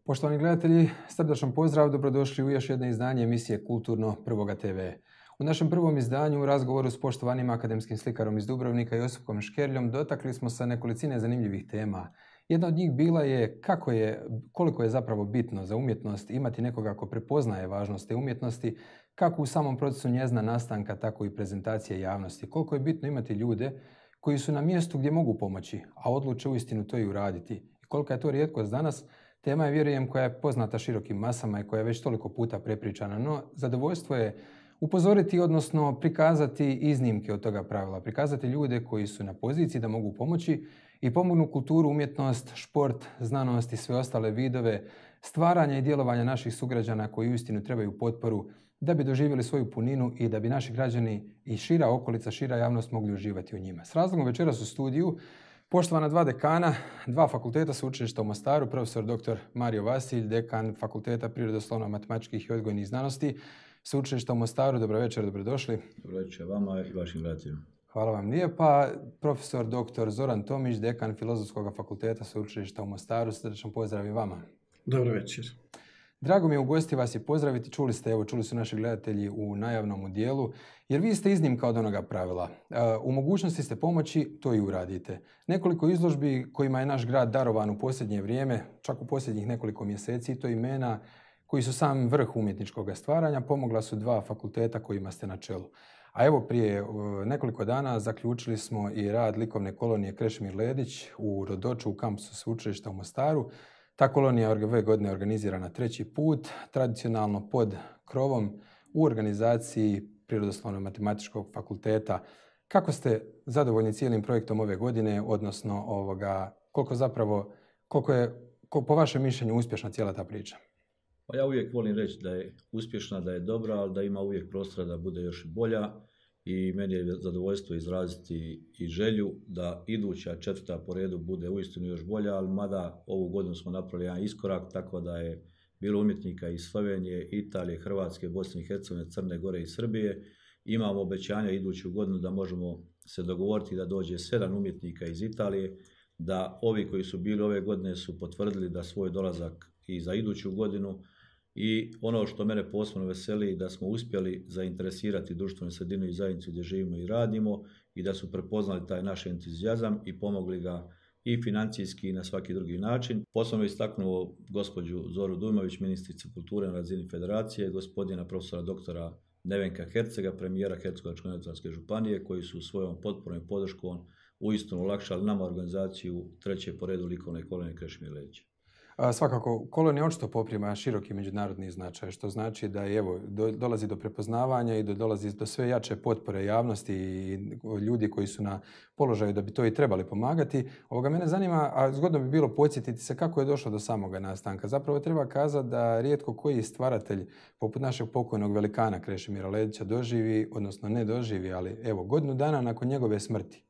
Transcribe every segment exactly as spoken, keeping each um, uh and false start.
Poštovani gledatelji, srdačan pozdrav, dobrodošli u još jedno izdanje emisije Kulturno Prvoga te ve. U našem prvom izdanju u razgovoru s poštovanim akademskim slikarom iz Dubrovnika Josipom Škerljom dotakli smo se nekolicine zanimljivih tema. Jedna od njih bila je kako je, koliko je zapravo bitno za umjetnost imati nekoga ko prepoznaje važnost te umjetnosti, kako u samom procesu njezina nastanka, tako i prezentacije javnosti. Koliko je bitno imati ljude koji su na mjestu gdje mogu pomoći, a odluče uistinu to i uraditi. I kolika je to rijetkost danas, tema je, vjerujem, koja je poznata širokim masama i koja je već toliko puta prepričana, no zadovoljstvo je upozoriti, odnosno prikazati iznimke od toga pravila, prikazati ljude koji su na poziciji da mogu pomoći i pomognu kulturu, umjetnost, šport, znanost i sve ostale vidove stvaranja i djelovanja naših sugrađana koji uistinu trebaju potporu da bi doživjeli svoju puninu i da bi naši građani i šira okolica, šira javnost mogli uživati u njima. S razlogom večeras u studiju poštovana dva dekana, dva fakulteta Sveučilišta u Mostaru, profesor doktor Mario Vasilj, dekan Fakulteta prirodoslovno-matematičkih i odgojnih znanosti Sveučilišta u Mostaru. Dobro večer, dobrodošli. Dobro večer vama i vašim gledateljima. Hvala vam lijepa. Profesor doktor Zoran Tomić, dekan Filozofskog fakulteta Sveučilišta u Mostaru. Srdečan pozdrav i vama. Dobro večer. Drago mi je u gosti vas i pozdraviti. Čuli ste, evo, čuli su naši gledatelji u najavnom dijelu, jer vi ste iznimka od onoga pravila. U mogućnosti ste pomoći, to i uradite. Nekoliko izložbi kojima je naš grad darovan u posljednje vrijeme, čak u posljednjih nekoliko mjeseci, to imena koji su sam vrh umjetničkog stvaranja, pomogla su dva fakulteta kojima ste na čelu. A evo, prije nekoliko dana zaključili smo i rad likovne kolonije Krešimir Ledić u Rodoču u kampusu Sveučilišta u Mostaru. Ta kolonija ove godine organizirana treći put, tradicionalno pod krovom u organizaciji Prirodoslovno-matematičkog fakulteta. Kako ste zadovoljni cijelim projektom ove godine, odnosno ovoga, koliko zapravo, koliko je, koliko, po vašem mišljenju, uspješna cijela ta priča? Pa ja uvijek volim reći da je uspješna, da je dobra, ali da ima uvijek prostora da bude još bolja. I meni je zadovoljstvo izraziti i želju da iduća četvrta po redu bude uistinu još bolja, ali mada ovu godinu smo napravili jedan iskorak, tako da je bilo umjetnika iz Slovenije, Italije, Hrvatske, Bosne i Hercegovine, Crne Gore i Srbije. Imamo obećanja iduću godinu da možemo se dogovoriti da dođe sedam umjetnika iz Italije, da ovi koji su bili ove godine su potvrdili da svoj dolazak i za iduću godinu. I ono što mene posebno veseli da smo uspjeli zainteresirati društvenu sredinu i zajednicu gdje živimo i radimo i da su prepoznali taj naš entuzijazam i pomogli ga i financijski i na svaki drugi način. Posebno istaknuo gospođu Zoru Dujmović, ministricu kulture na razini federacije, gospodina profesora doktora Nevenka Hercega, premijera Hercegovačko-neretvanske županije, koji su svojom potporom i podrškom uistinu olakšali nama organizaciju treće po redu likovne kolonije Krešimir Ledić. Svakako, kolonija očito poprima široki međunarodni značaj, što znači da je, evo, do, dolazi do prepoznavanja i do, dolazi do sve jače potpore javnosti i ljudi koji su na položaju da bi to i trebali pomagati. Ovoga mene zanima, a zgodno bi bilo podsjetiti se kako je došlo do samoga nastanka. Zapravo treba kazati da rijetko koji stvaratelj, poput našeg pokojnog velikana Krešimira Ledića, doživi, odnosno ne doživi, ali evo, godinu dana nakon njegove smrti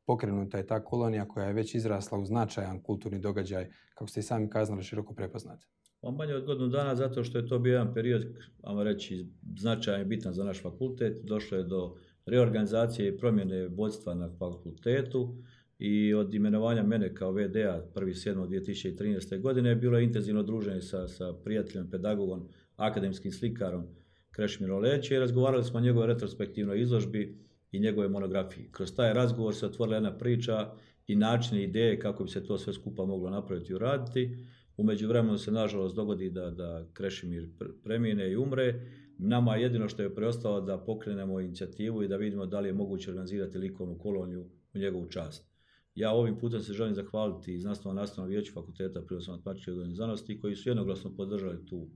pokrenuta je ta kolonija koja je već izrasla u značajan kulturni događaj, kako ste i sami kazali, široko prepoznat. Pa manje od godinu dana zato što je to bio jedan period, ajmo reći, značajan i bitan za naš fakultet. Došlo je do reorganizacije i promjene vodstva na fakultetu i od imenovanja mene kao ve de a prvi sedmog dvije tisuće trinaeste. godine bilo je intenzivno druženje sa, sa prijateljem, pedagogom, akademskim slikarom Krešimirom Ledićem i razgovarali smo o njegovoj retrospektivnoj izložbi i njegove monografije. Kroz taj razgovor se otvorila jedna priča i načine, ideje kako bi se to sve skupa moglo napraviti i uraditi. U međuvremenu se nažalost dogodi da, da Krešimir premine i umre. Nama jedino što je preostalo da pokrenemo inicijativu i da vidimo da li je moguće organizirati likovnu koloniju u njegovu čast. Ja ovim putem se želim zahvaliti Znanstveno-nastavnom vijeću Fakulteta prirodoslovno-matematičke i odgojne znanosti koji su jednoglasno podržali tu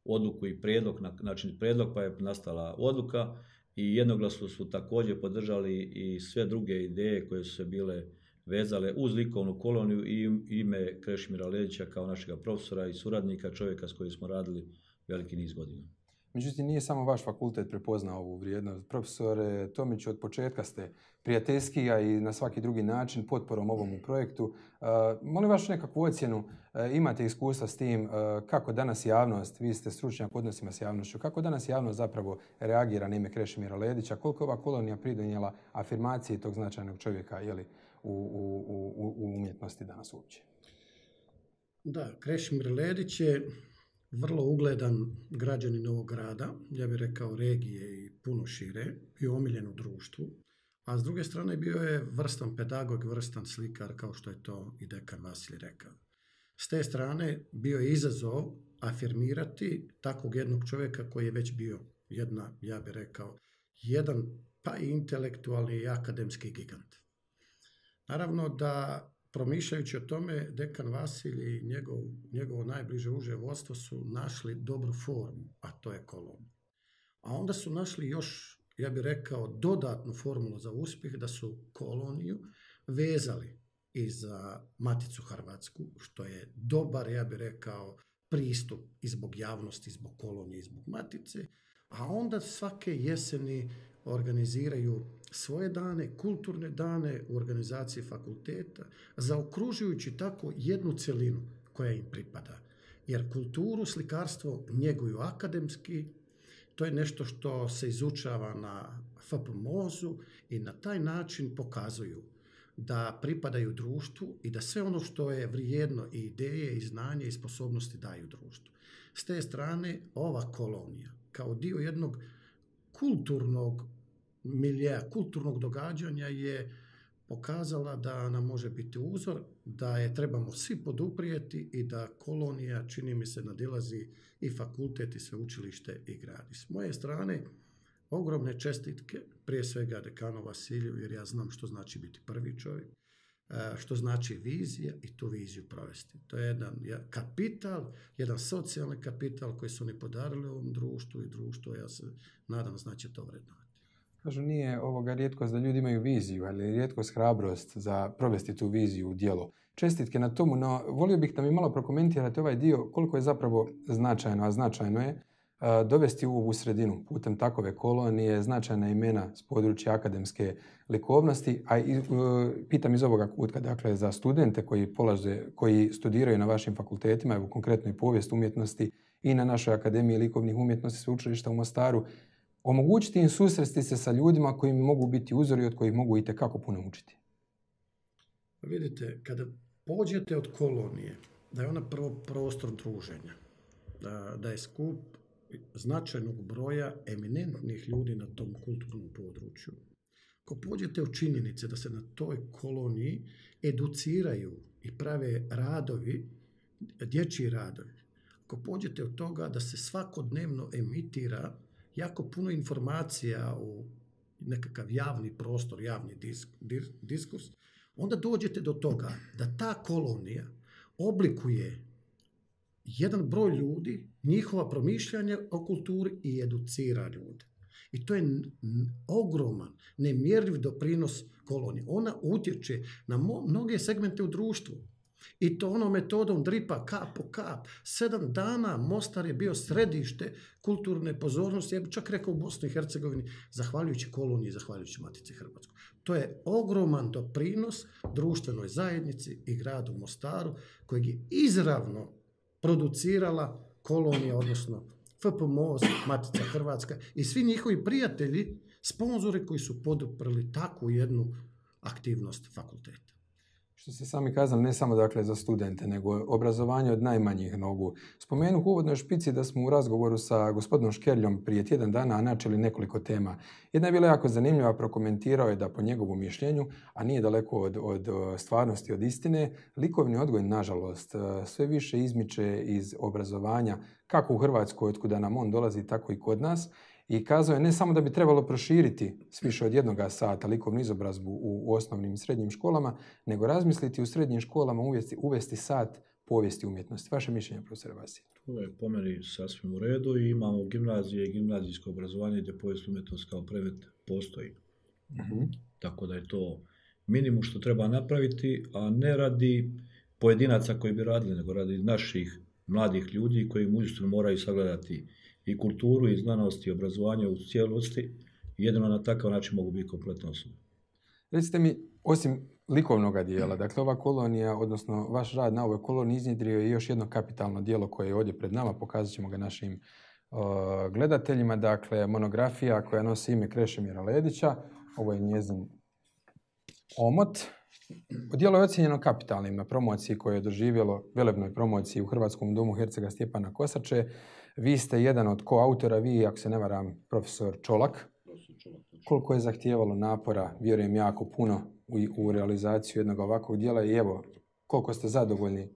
odluku i prijedlog, znači prijedlog pa je nastala odluka. I jednoglasno su također podržali i sve druge ideje koje su se bile vezale uz likovnu koloniju i ime Krešimira Ledića kao našega profesora i suradnika, čovjeka s kojim smo radili veliki niz godina. Međutim, nije samo vaš fakultet prepoznao ovu vrijednost. Profesore Tomić, od početka ste prijateljski, a i na svaki drugi način potporom ovom projektu. Uh, molim vašu nekakvu ocjenu, uh, imate iskustva s tim, uh, kako danas javnost, vi ste stručnjak u odnosima s javnošću, kako danas javnost zapravo reagira na ime Krešimira Ledića, koliko je ova kolonija pridonijela afirmaciji tog značajnog čovjeka, jeli, u, u, u, u umjetnosti danas uopće? Da, Krešimir Ledić je vrlo ugledan građanin ovog grada, ja bih rekao regije i puno šire, bio omiljen u društvu, a s druge strane bio je vrstan pedagog, vrstan slikar, kao što je to i dekan Vasilij rekao. S te strane bio je izazov afirmirati takvog jednog čovjeka koji je već bio jedna, ja bih rekao, jedan pa i intelektualni i akademski gigant. Naravno da promišljajući o tome, dekan Vasilij i njegov, njegovo najbliže uže vodstvo su našli dobru formu, a to je kolonija. A onda su našli još, ja bih rekao, dodatnu formulu za uspjeh, da su koloniju vezali i za Maticu Hrvatsku, što je dobar, ja bih rekao, pristup i zbog javnosti, i zbog kolonije, i zbog Matice, a onda svake jeseni organiziraju svoje dane, kulturne dane u organizaciji fakulteta, zaokružujući tako jednu celinu koja im pripada. Jer kulturu, slikarstvo njeguju akademski, to je nešto što se izučava na F P M O Z-u i na taj način pokazuju da pripadaju društvu i da sve ono što je vrijedno i ideje, i znanje, i sposobnosti daju društvu. S te strane, ova kolonija, kao dio jednog kulturnog miljeja, kulturnog događanja, je pokazala da nam može biti uzor, da je trebamo svi poduprijeti i da kolonija, čini mi se, nadilazi i fakultet, i sveučilište, i grad. I s moje strane, ogromne čestitke, prije svega dekanu Vasiliju, jer ja znam što znači biti prvi čovjek, što znači vizija i tu viziju provesti. To je jedan kapital, jedan socijalni kapital koji su oni podarili ovom društvu i društvo, ja se nadam, znači to vrednovati. Kažu, nije ovoga rijetkost da ljudi imaju viziju, ali je rijetkost hrabrost za provesti tu viziju u djelo. Čestitke na tomu, no volio bih da mi malo prokomentirate ovaj dio, koliko je zapravo značajno, a značajno je dovesti u ovu sredinu putem takove kolonije značajna imena s područja akademske likovnosti, a i, pitam iz ovoga kutka, dakle, za studente koji polaze, koji studiraju na vašim fakultetima, evo konkretno i povijest umjetnosti i na našoj Akademiji likovnih umjetnosti sveučilišta u Mostaru, omogućiti im susresti se sa ljudima koji mogu biti uzori, od kojih mogu itekako puno učiti. Vidite, kada pođete od kolonije, da je ona prvo prostor druženja, da, da je skup značajnog broja eminentnih ljudi na tom kulturnom području. Ako pođete od činjenice da se na toj koloniji educiraju i prave radovi, dječji radovi, ako pođete od toga da se svakodnevno emitira jako puno informacija u nekakav javni prostor, javni disk, dis, diskurs, onda dođete do toga da ta kolonija oblikuje jedan broj ljudi, njihova promišljanja o kulturi i educira ljude. I to je ogroman, nemjerljiv doprinos kolonije. Ona utječe na mnoge segmente u društvu. I to ono metodom dripa, kap po kap. Sedam dana Mostar je bio središte kulturne pozornosti, ja bih čak rekao u Bosni i Hercegovini, zahvaljujući koloniji, zahvaljujući Matici Hrvatskoj. To je ogroman doprinos društvenoj zajednici i gradu Mostaru, kojeg je izravno producirala kolonija, odnosno F P M O Z, Matica Hrvatska i svi njihovi prijatelji, sponzori koji su poduprli takvu jednu aktivnost fakulteta. Što ste sami kazali, ne samo dakle za studente, nego obrazovanje od najmanjih nogu. Spomenuh u uvodnoj špici da smo u razgovoru sa gospodinom Škerljom prije tjedan dana načeli nekoliko tema. Jedna je bila jako zanimljiva, prokomentirao je da po njegovu mišljenju, a nije daleko od, od stvarnosti, od istine, likovni odgoj, nažalost, sve više izmiče iz obrazovanja, kako u Hrvatskoj, otkuda nam on dolazi, tako i kod nas. I kazao je ne samo da bi trebalo proširiti s više od jednoga sata likovnu izobrazbu u osnovnim i srednjim školama, nego razmisliti u srednjim školama uvesti, uvesti sat povijesti umjetnosti. Vaše mišljenje, profesor Vasilij? To je po meni sasvim u redu i imamo gimnazije i gimnazijsko obrazovanje gdje povijest umjetnosti kao predmet postoji. Uh-huh. Tako da je to minimum što treba napraviti, a ne radi pojedinaca koji bi radili, nego radi naših mladih ljudi koji uistinu moraju sagledati i kulturu, i znanost, i obrazovanje u cijelosti. Jedino na takav način mogu biti kompletno osobe. Recite mi, osim likovnog dijela, dakle ova kolonija, odnosno vaš rad na ovoj koloniji iznjedrio je još jedno kapitalno djelo koje je ovdje pred nama, pokazat ćemo ga našim uh, gledateljima, dakle monografija koja nosi ime Krešimira Ledića, ovo je njezin omot. Djelo je ocijenjeno kapitalnim na promociji koje je doživjelo, velebnoj promociji u Hrvatskom domu Hercega Stjepana Kosače. Vi ste jedan od koautora, vi, ako se ne varam, profesor Čolak. Koliko je zahtijevalo napora, vjerujem jako puno, u, u realizaciju jednog ovakvog djela i evo, koliko ste zadovoljni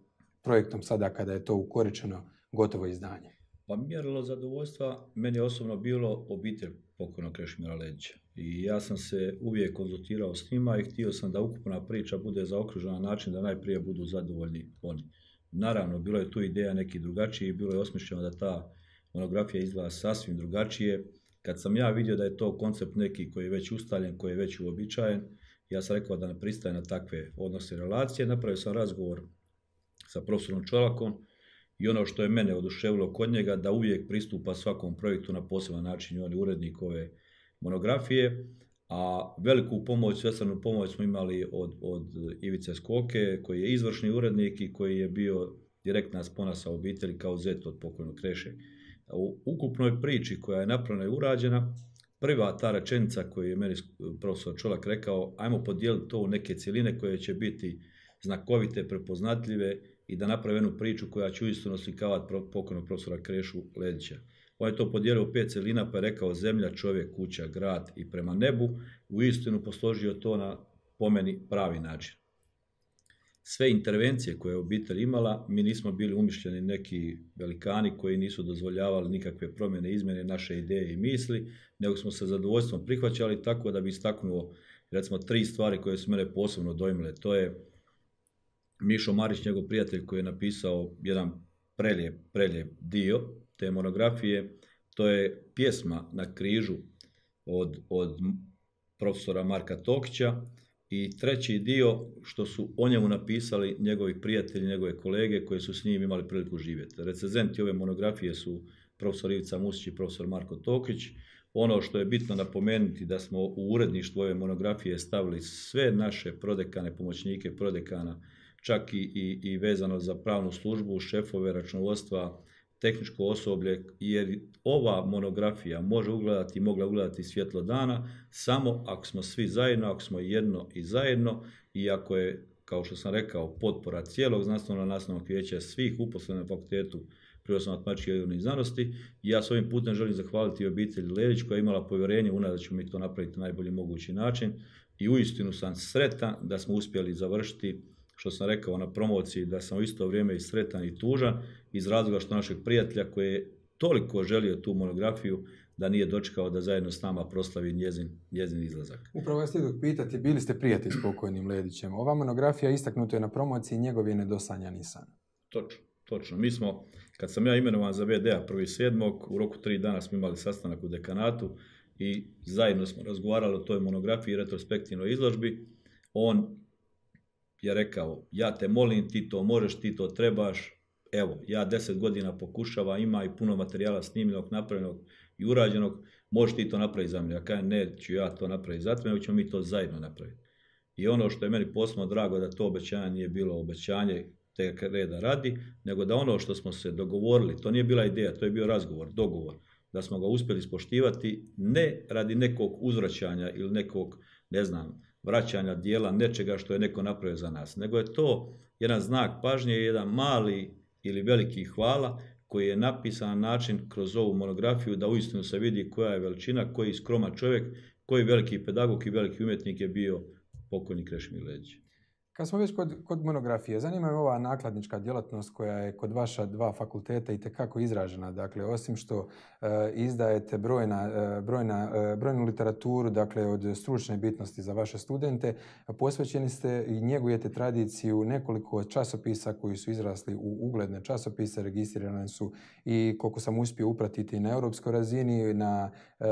projektom sada kada je to ukoričeno gotovo izdanje? Pa mjerilo zadovoljstva meni je osobno bilo obitelj pokojnog Krešimira Ledića. I ja sam se uvijek konzultirao s njima i htio sam da ukupna priča bude zaokružena na način da najprije budu zadovoljni oni. Naravno, bilo je tu ideja neki drugačiji, bilo je osmišljeno da ta monografija izgleda sasvim drugačije. Kad sam ja vidio da je to koncept neki koji je već ustaljen, koji je već uobičajen, ja sam rekao da ne pristaje na takve odnose i relacije. Napravio sam razgovor sa profesorom Čolakom i ono što je mene oduševilo kod njega, da uvijek pristupa svakom projektu na poseban način. On je urednik ove monografije, a veliku pomoć, svestranu pomoć smo imali od, od Ivice Skoke, koji je izvršni urednik i koji je bio direktna spona sa obitelji kao zet od pokojnog Kreše. U ukupnoj priči koja je napravljena i urađena, prva ta rečenica koju je meni profesor Čolak rekao, ajmo podijeliti to u neke cjeline koje će biti znakovite, prepoznatljive i da napravi jednu priču koja će uistinu slikavati pokojnog profesora Krešu Ledića. On je to podijelio u pet celina pa je rekao zemlja, čovjek, kuća, grad i prema nebu. Uistinu posložio to na, po meni, pravi način. Sve intervencije koje je obitelj imala, mi nismo bili umišljeni neki velikani koji nisu dozvoljavali nikakve promjene, izmjene naše ideje i misli, nego smo se zadovoljstvom prihvaćali, tako da bi istaknuo recimo tri stvari koje su mene posebno dojmile. To je Mišo Marić, njegov prijatelj, koji je napisao jedan prelijep, prelijep dio te monografije. To je pjesma Na križu od, od profesora Marka Tokića. I treći dio što su o njemu napisali njegovi prijatelji, njegove kolege koji su s njim imali priliku živjeti. Recenzenti ove monografije su profesor Ivica Musić i profesor Marko Tokić. Ono što je bitno napomenuti da smo u uredništvu ove monografije stavili sve naše prodekane, pomoćnike prodekana, čak i, i, i vezano za pravnu službu, šefove računovodstva, tehničko osoblje, jer ova monografija može ugledati i mogla ugledati svjetlo dana samo ako smo svi zajedno, ako smo jedno i zajedno i ako je, kao što sam rekao, potpora cijelog znanstveno-nastavnog vijeća, svih uposlenih na fakultetu prirodoslovno-matematičkih i prirodnih znanosti. I ja s ovim putem želim zahvaliti obitelji Ledić koja je imala povjerenje u nas da ćemo mi to napraviti na najbolji mogući način i uistinu sam sretan da smo uspjeli završiti, što sam rekao na promociji, da sam u isto vrijeme i sretan i tužan iz razloga što našeg prijatelja koji je toliko želio tu monografiju da nije dočekao da zajedno s nama proslavi njezin, njezin izlazak. Upravo vas htio pitati, bili ste prijatelj s pokojnim Ledićem. Ova monografija istaknuta je na promociji, njegov je nedosanjani san. Točno, točno. Mi smo, kad sam ja imenovan za ve de a prvi sedmog, u roku tri dana smo imali sastanak u dekanatu i zajedno smo razgovarali o toj monografiji i retrospektivnoj izložbi. On je rekao, ja te molim, ti to možeš, ti to trebaš, evo, ja deset godina pokušava, ima i puno materijala snimljenog, napravljenog i urađenog, možeš ti to napraviti za mene. Ja kažem, neću ja to napraviti za tebe, nego ćemo mi to zajedno napraviti. I ono što je meni posebno drago, da to obećanje nije bilo obećanje te reda radi, nego da ono što smo se dogovorili, to nije bila ideja, to je bio razgovor, dogovor, da smo ga uspjeli ispoštivati, ne radi nekog uzvraćanja ili nekog, ne znam, vraćanja dijela nečega što je neko napravio za nas, nego je to jedan znak pažnje, jedan mali ili veliki hvala koji je napisan na način kroz ovu monografiju da uistinu se vidi koja je veličina, koji skroman čovjek, koji veliki pedagog i veliki umjetnik je bio pokojni Krešimir Ledić. Kad smo već kod, kod monografije, zanima me ova nakladnička djelatnost koja je kod vaša dva fakulteta itekako izražena. Dakle, osim što e, izdajete brojna, e, brojna, e, brojnu literaturu, dakle, od stručne bitnosti za vaše studente, posvećeni ste i njegujete tradiciju nekoliko časopisa koji su izrasli u ugledne časopise, registrirane su i, koliko sam uspio upratiti, na europskoj razini, na e,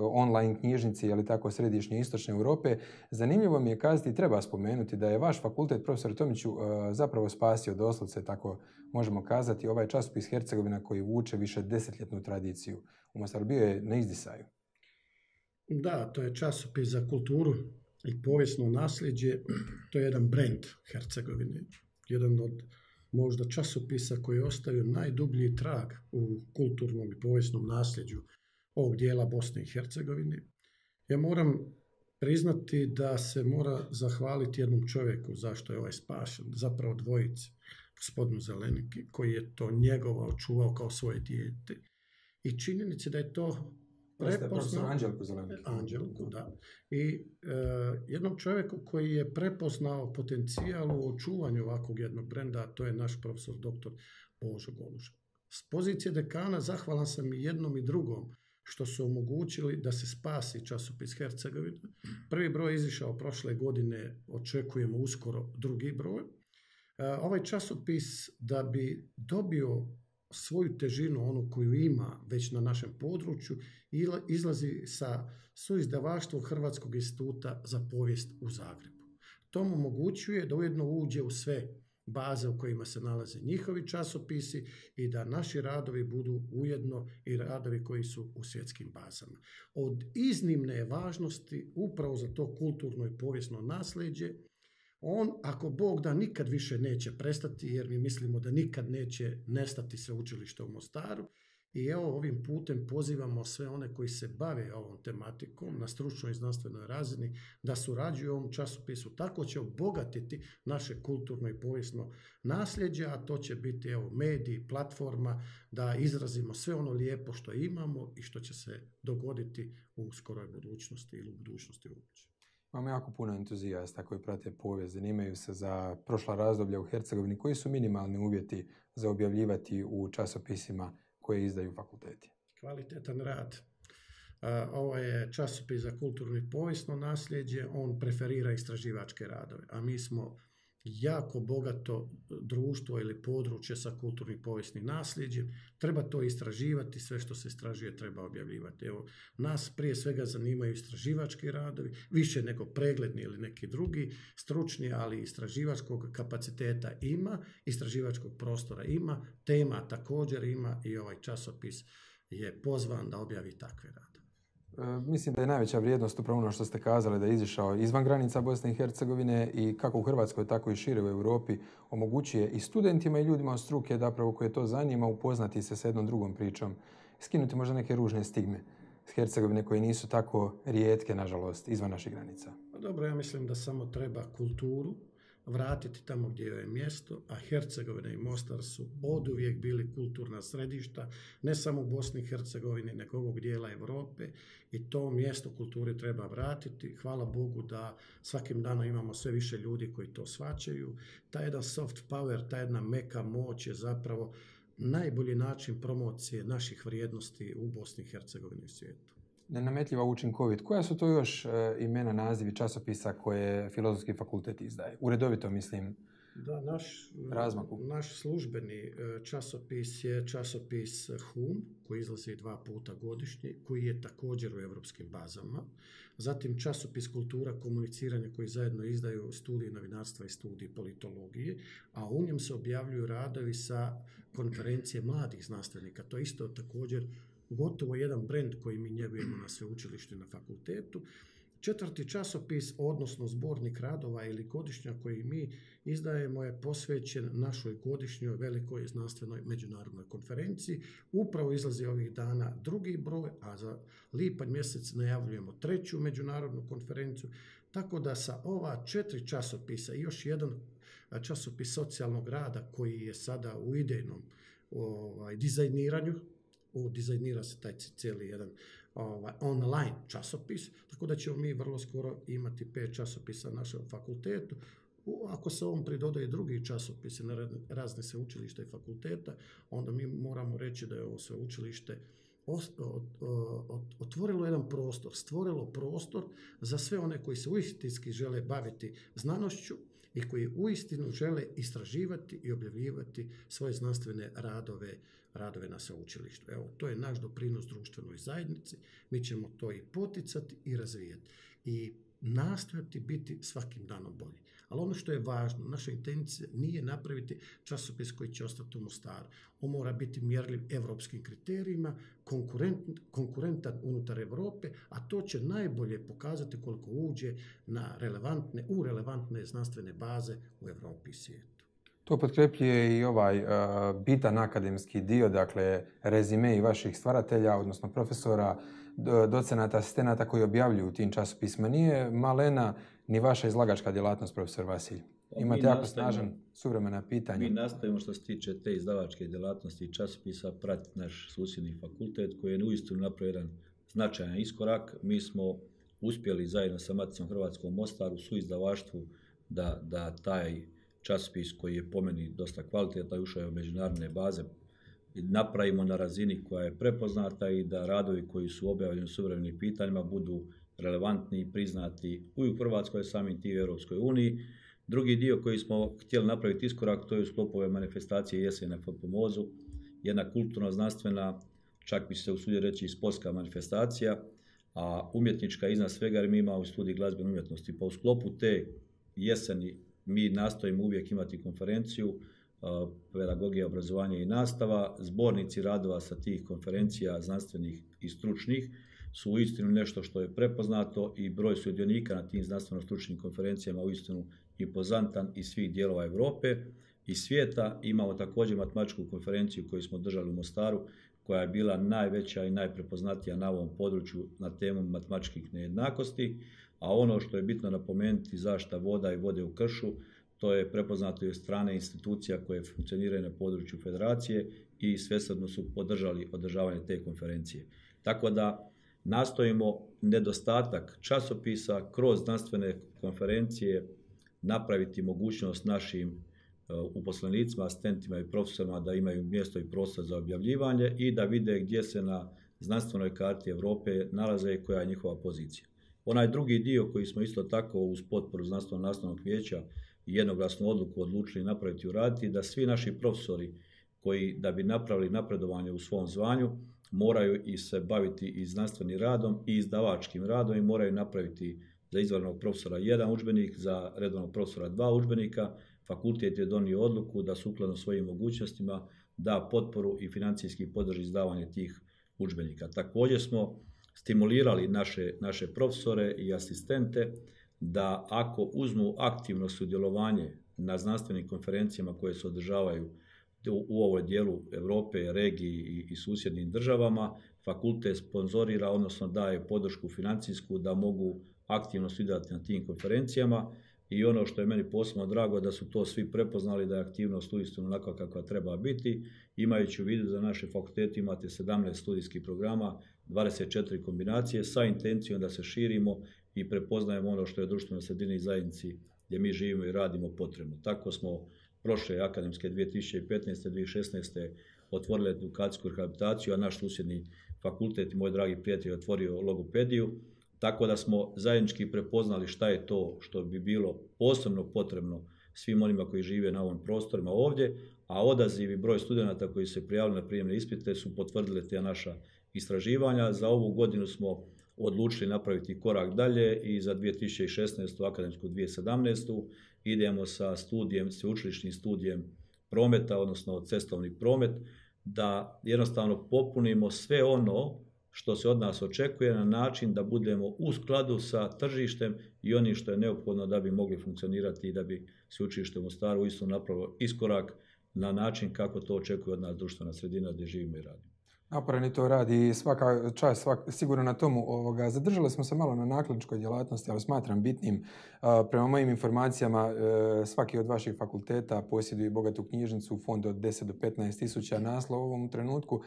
online knjižnici, ali tako, središnje i istočne Europe. Zanimljivo mi je kazati i treba spomenuti da je vaš fakultet, profesor Tomiću, zapravo spasio doslovce, tako možemo kazati, ovaj časopis Hercegovina koji vuče više desetljetnu tradiciju u Mostaru. Bio je na izdisaju. Da, to je časopis za kulturu i povijesno nasljeđe. To je jedan brend Hercegovine. Jedan od možda časopisa koji je ostavio najdublji trag u kulturnom i povijesnom nasljeđu ovog dijela Bosne i Hercegovine. Ja moram priznati da se mora zahvaliti jednom čovjeku zašto je ovaj spašen, zapravo dvojici, gospodinu Zeleniki, koji je to njegovao, čuvao kao svoje dijete. I činjenici da je to prepoznao Anđelku Zeleniku. Anđelku, da. I e, jednom čovjeku koji je prepoznao potencijal u očuvanju ovakvog jednog brenda, a to je naš profesor doktor Božo Goluža. S pozicije dekana zahvalan sam i jednom i drugom što su omogućili da se spasi časopis Hercegovina. Prvi broj je izišao prošle godine, očekujemo uskoro drugi broj. E, ovaj časopis da bi dobio svoju težinu, onu koju ima već na našem području, izlazi sa suizdavaštvom Hrvatskog instituta za povijest u Zagrebu. To mu omogućuje da ujedno uđe u sve baze u kojima se nalaze njihovi časopisi i da naši radovi budu ujedno i radovi koji su u svjetskim bazama. Od iznimne je važnosti upravo za to kulturno i povijesno nasljeđe. On, ako Bog da, nikad više neće prestati, jer mi mislimo da nikad neće nestati sveučilište u Mostaru. I evo, ovim putem pozivamo sve one koji se bave ovom tematikom na stručnoj i znanstvenoj razini da surađuju u ovom časopisu. Tako će obogatiti naše kulturno i povijesno nasljeđe, a to će biti evo, mediji, platforma, da izrazimo sve ono lijepo što imamo i što će se dogoditi u skoroj budućnosti ili u budućnosti uopće. Imamo jako puno entuzijasta koji prate povijest, zanimaju se za prošla razdoblja u Hercegovini. Koji su minimalni uvjeti za objavljivati u časopisima koje izdaju fakulteti? Kvalitetan rad. Ovo je časopis za kulturno i povijesno nasljeđe, on preferira istraživačke radove, a mi smo jako bogato društvo ili područje sa kulturnim povijesnim nasljeđem. Treba to istraživati, sve što se istražuje treba objavljivati. Evo, nas prije svega zanimaju istraživački radovi, više nego pregledni ili neki drugi, stručni, ali istraživačkog kapaciteta ima, istraživačkog prostora ima, tema također ima i ovaj časopis je pozvan da objavi takve radove. Mislim da je najveća vrijednost upravo ono što ste kazali, da je izišao izvan granica Bosne i Hercegovine i kako u Hrvatskoj, tako i šire u Europi omogućuje i studentima i ljudima od struke da pravo koje to zanima upoznati se sa jednom drugom pričom, skinuti možda neke ružne stigme s Hercegovine koje nisu tako rijetke, nažalost, izvan naših granica. Dobro, ja mislim da samo treba kulturu vratiti tamo gdje je mjesto, a Hercegovina i Mostar su oduvijek bili kulturna središta, ne samo u Bosni i Hercegovini, nego ovog dijela Europe i to mjesto kulture treba vratiti. Hvala Bogu da svakim danom imamo sve više ljudi koji to shvaćaju. Ta jedan soft power, ta jedna meka moć je zapravo najbolji način promocije naših vrijednosti u Bosni i Hercegovini i svijetu. Nenametljiva, učinkovit. Koja su to još e, imena, nazivi časopisa koje Filozofski fakultet izdaje? Uredovito, mislim, da, naš, razmaku. Naš službeni časopis je časopis Hum, koji izlazi dva puta godišnje, koji je također u europskim bazama. Zatim časopis Kultura komuniciranja, koji zajedno izdaju studij novinarstva i studij politologije, a u njem se objavljuju radovi sa konferencije mladih znanstvenika. To je isto također gotovo jedan brend koji mi njegujemo na sveučilištu i na fakultetu. Četvrti časopis, odnosno zbornik radova ili godišnja koji mi izdajemo, je posvećen našoj godišnjoj velikoj znanstvenoj međunarodnoj konferenciji. Upravo izlazi ovih dana drugi broj, a za lipanj mjesec najavljujemo treću međunarodnu konferenciju. Tako da sa ova četiri časopisa i još jedan časopis socijalnog rada koji je sada u idejnom ovaj, dizajniranju, U, dizajnira se taj cijeli jedan ovaj, online časopis, tako da ćemo mi vrlo skoro imati pet časopisa na našem fakultetu. U, ako se ovom pridodaju drugi časopisi na razne sveučilišta i fakulteta, onda mi moramo reći da je ovo sveučilište otvorilo jedan prostor, stvorilo prostor za sve one koji se uistinski žele baviti znanošću i koji uistinu žele istraživati i objavljivati svoje znanstvene radove, radove na sveučilištu. Evo, to je naš doprinos društvenoj zajednici. Mi ćemo to i poticati i razvijati. I nastojati biti svakim danom bolji. Ali ono što je važno, naša intencija nije napraviti časopis koji će ostati u Mostaru. On mora biti mjerljiv evropskim kriterijima, konkurent, konkurentan unutar Europe, a to će najbolje pokazati koliko uđe na relevantne, u relevantne znanstvene baze u Europi i svijetu. To potkrepljuje i ovaj uh, bitan akademski dio, dakle rezime i vaših stvaratelja, odnosno profesora, docenata, asistenata koji objavljuju u tim časopisima. Nije malena ni vaša izlagačka djelatnost, profesor Vasilj. Imate jako snažan suvremena pitanja. Mi nastavimo što se tiče te izdavačke djelatnosti i časopisa pratiti naš susjedni fakultet koji je uistinu napravio jedan značajan iskorak. Mi smo uspjeli zajedno sa Maticom Hrvatskom u Mostaru su izdavaštvu da, da taj časopis koji je po meni dosta kvalitetan, ušao je u međunarodne baze, napravimo na razini koja je prepoznata i da radovi koji su objavljeni u suvremenim pitanjima budu relevantni i priznati i u Hrvatskoj, samim tim u Europskoj uniji. Drugi dio koji smo htjeli napraviti iskorak, to je u sklopu ove manifestacije Jesen na Pomozu, jedna kulturno-znanstvena, čak bi se usudio reći i sportska manifestacija, a umjetnička iznad svega, jer mi imamo u studiji glazbene umjetnosti. Pa u sklopu te jeseni mi nastojimo uvijek imati konferenciju, pedagogija, obrazovanje i nastava. Zbornici radova sa tih konferencija znanstvenih i stručnih su uistinu nešto što je prepoznato i broj sudionika na tim znanstveno-stručnim konferencijama uistinu impozantan iz svih dijelova Europe i svijeta. Imamo također matematičku konferenciju koju smo držali u Mostaru, koja je bila najveća i najprepoznatija na ovom području na temu matematičkih nejednakosti, a ono što je bitno napomenuti, zaštita voda i vode u kršu, to je prepoznato i od strane institucija koje funkcioniraju na području federacije i svesrdno su podržali održavanje te konferencije. Tako da nastojimo nedostatak časopisa kroz znanstvene konferencije napraviti mogućnost našim uposlenicima, asistentima i profesorima da imaju mjesto i prostor za objavljivanje i da vide gdje se na znanstvenoj karti Europe nalaze i koja je njihova pozicija. Onaj drugi dio koji smo isto tako uz potporu znanstveno-nastavnog vijeća i jednoglasnu odluku odlučili napraviti i uraditi, da svi naši profesori koji da bi napravili napredovanje u svom zvanju moraju i se baviti i znanstvenim radom i izdavačkim radom i moraju napraviti za izvanrednog profesora jedan udžbenik, za redovnog profesora dva udžbenika. Fakultet je donio odluku da sukladno svojim mogućnostima da potporu i financijski podrži izdavanje tih udžbenika. Također smo stimulirali naše, naše profesore i asistente da ako uzmu aktivno sudjelovanje na znanstvenim konferencijama koje se održavaju u, u ovoj dijelu Europe, regiji i, i susjednim državama, fakultet sponzorira, odnosno daje podršku financijsku da mogu aktivno sudjelovati na tim konferencijama. I ono što je meni posebno drago da su to svi prepoznali da je aktivnost uistinu onakva kakva treba biti, imajući u vidu da naše fakultete imate sedamnaest studijskih programa, dvadeset četiri kombinacije sa intencijom da se širimo i prepoznajemo ono što je društveno sredini i zajednici gdje mi živimo i radimo potrebno. Tako smo prošle akademske dvije tisuće petnaeste. dvije tisuće šesnaeste. otvorili edukacijsku rehabilitaciju, a naš susjedni fakultet i moj dragi prijatelj otvorio logopediju. Tako da smo zajednički prepoznali šta je to što bi bilo posebno potrebno svim onima koji žive na ovom prostorima ovdje, a odaziv i broj studenata koji se prijavili na prijemne ispite su potvrdili te naša istraživanja. Za ovu godinu smo odlučili napraviti korak dalje i za dvije tisuće šesnaestu. akademsku dvije tisuće sedamnaestu. idemo sa studijem, sveučilišnim studijem prometa, odnosno cestovni promet, da jednostavno popunimo sve ono što se od nas očekuje na način da budemo u skladu sa tržištem i onim što je neophodno da bi mogli funkcionirati i da bi sveučilište u Mostaru uistinu napravilo iskorak na način kako to očekuje od nas društvena sredina gdje živimo i radimo. Naporani to radi i svaka čast svak, sigurno na tomu. Ovoga. Zadržali smo se malo na nakladničkoj djelatnosti, ali smatram bitnim. A, prema mojim informacijama, e, svaki od vaših fakulteta posjeduje bogatu knjižnicu u fondu od deset do petnaest tisuća naslova u ovom trenutku.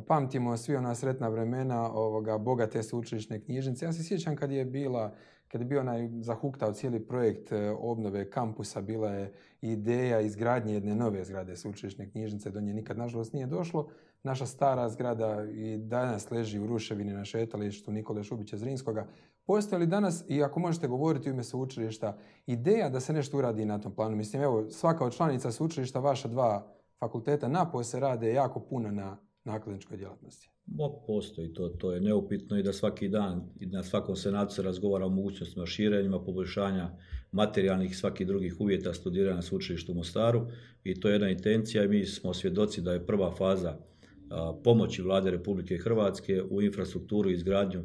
Pamtimo svi ona sretna vremena ovoga, bogate sveučilišne knjižnice. Ja se sjećam kad je bila, kad je bio onaj zahuktao cijeli projekt obnove kampusa, bila je ideja izgradnje jedne nove zgrade sveučilišne knjižnice, do nje nikad nažalost nije došlo. Naša stara zgrada i danas leži u ruševini na šetalištu Nikole Šubića Zrinskoga. Postoji li danas, i ako možete govoriti u ime sveučilišta, ideja da se nešto uradi na tom planu? Mislim, evo, svaka od članica sveučilišta, vaša dva fakulteta napose rade jako puno na nakladničkoj djelatnosti. Bo, postoji, to, to je neupitno i da svaki dan i na svakom senatu se razgovara o mogućnostima širenjima, poboljšanja materijalnih i svakih drugih uvjeta studiranja na sveučilištu u Mostaru i to je jedna intencija i mi smo svjedoci da je prva faza a, pomoći Vlade Republike Hrvatske u infrastrukturu i izgradnju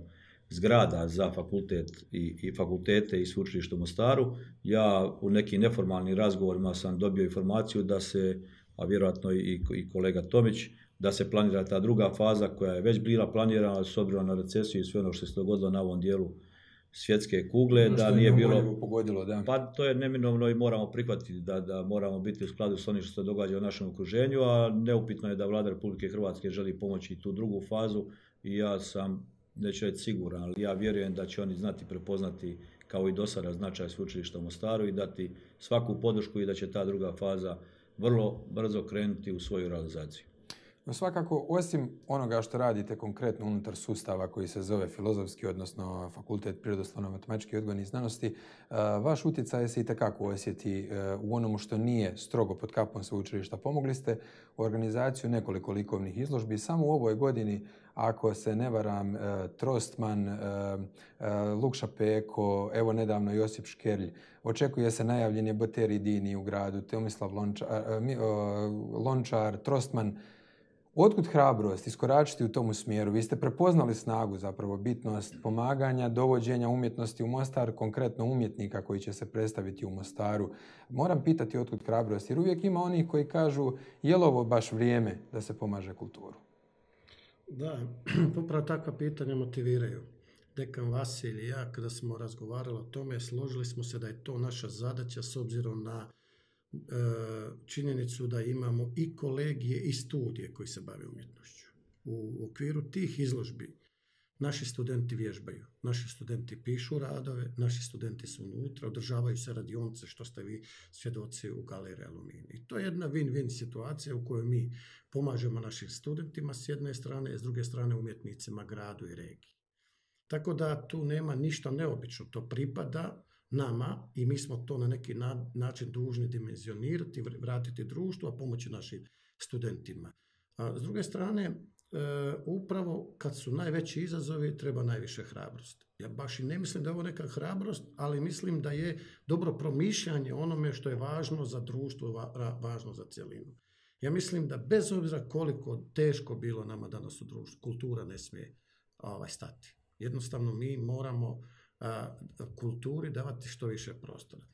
zgrada za fakultet i, i fakultete i sveučilište u Mostaru. Ja u nekim neformalnim razgovorima sam dobio informaciju da se, a vjerojatno i, i kolega Tomić, da se planira ta druga faza koja je već bila planirana s obzirom na recesiju i sve ono što se dogodilo na ovom dijelu svjetske kugle, no, da nije bilo... Pogodilo, da. Pa to je neminovno i moramo prihvatiti da, da moramo biti u skladu s onim što se događa u našem okruženju, a neupitno je da Vlada Republike Hrvatske želi pomoći tu drugu fazu i ja sam, neću reći siguran, ali ja vjerujem da će oni znati prepoznati kao i do sada značaj sveučilišta u Mostaru i dati svaku podršku i da će ta druga faza vrlo brzo krenuti u svoju realizaciju. No svakako, osim onoga što radite konkretno unutar sustava koji se zove filozofski, odnosno Fakultet prirodoslovno-matematičke i odgojnih znanosti, vaš utjecaj se itekako osjeti u onomu što nije strogo pod kapom sveučilišta. Pomogli ste u organizaciju nekoliko likovnih izložbi. Samo u ovoj godini, ako se ne varam, Trostman, Lukša Peko, evo nedavno Josip Škerlj, očekuje se najavljen je Boteri Dini u gradu, Tomislav Lončar, Lončar Trostman. Otkud hrabrost iskoračiti u tomu smjeru? Vi ste prepoznali snagu, zapravo bitnost pomaganja, dovođenja umjetnosti u Mostar, konkretno umjetnika koji će se predstaviti u Mostaru. Moram pitati otkud hrabrost, jer uvijek ima onih koji kažu je li ovo baš vrijeme da se pomaže kulturu? Da, upravo takva pitanja motiviraju. Dekan Vasilj i ja, kada smo razgovarali o tome, složili smo se da je to naša zadaća s obzirom na činjenicu da imamo i kolegije i studije koji se bave umjetnošću. U okviru tih izložbi naši studenti vježbaju, naši studenti pišu radove, naši studenti su unutra, održavaju se radionice što ste vi svjedoci u galeriji Aluminij. I to je jedna win-win situacija u kojoj mi pomažemo našim studentima s jedne strane, s druge strane umjetnicima, gradu i regiji. Tako da tu nema ništa neobično, to pripada nama i mi smo to na neki na, način dužni dimenzionirati, vratiti društvu, a pomoći našim studentima. A s druge strane, e, upravo kad su najveći izazovi treba najviše hrabrost. Ja baš i ne mislim da je ovo neka hrabrost, ali mislim da je dobro promišljanje onome što je važno za društvo, va, važno za cjelinu. Ja mislim da bez obzira koliko teško bilo nama danas u društvu, kultura ne smije ovaj, stati. Jednostavno mi moramo a, kulturi davati što više prostora.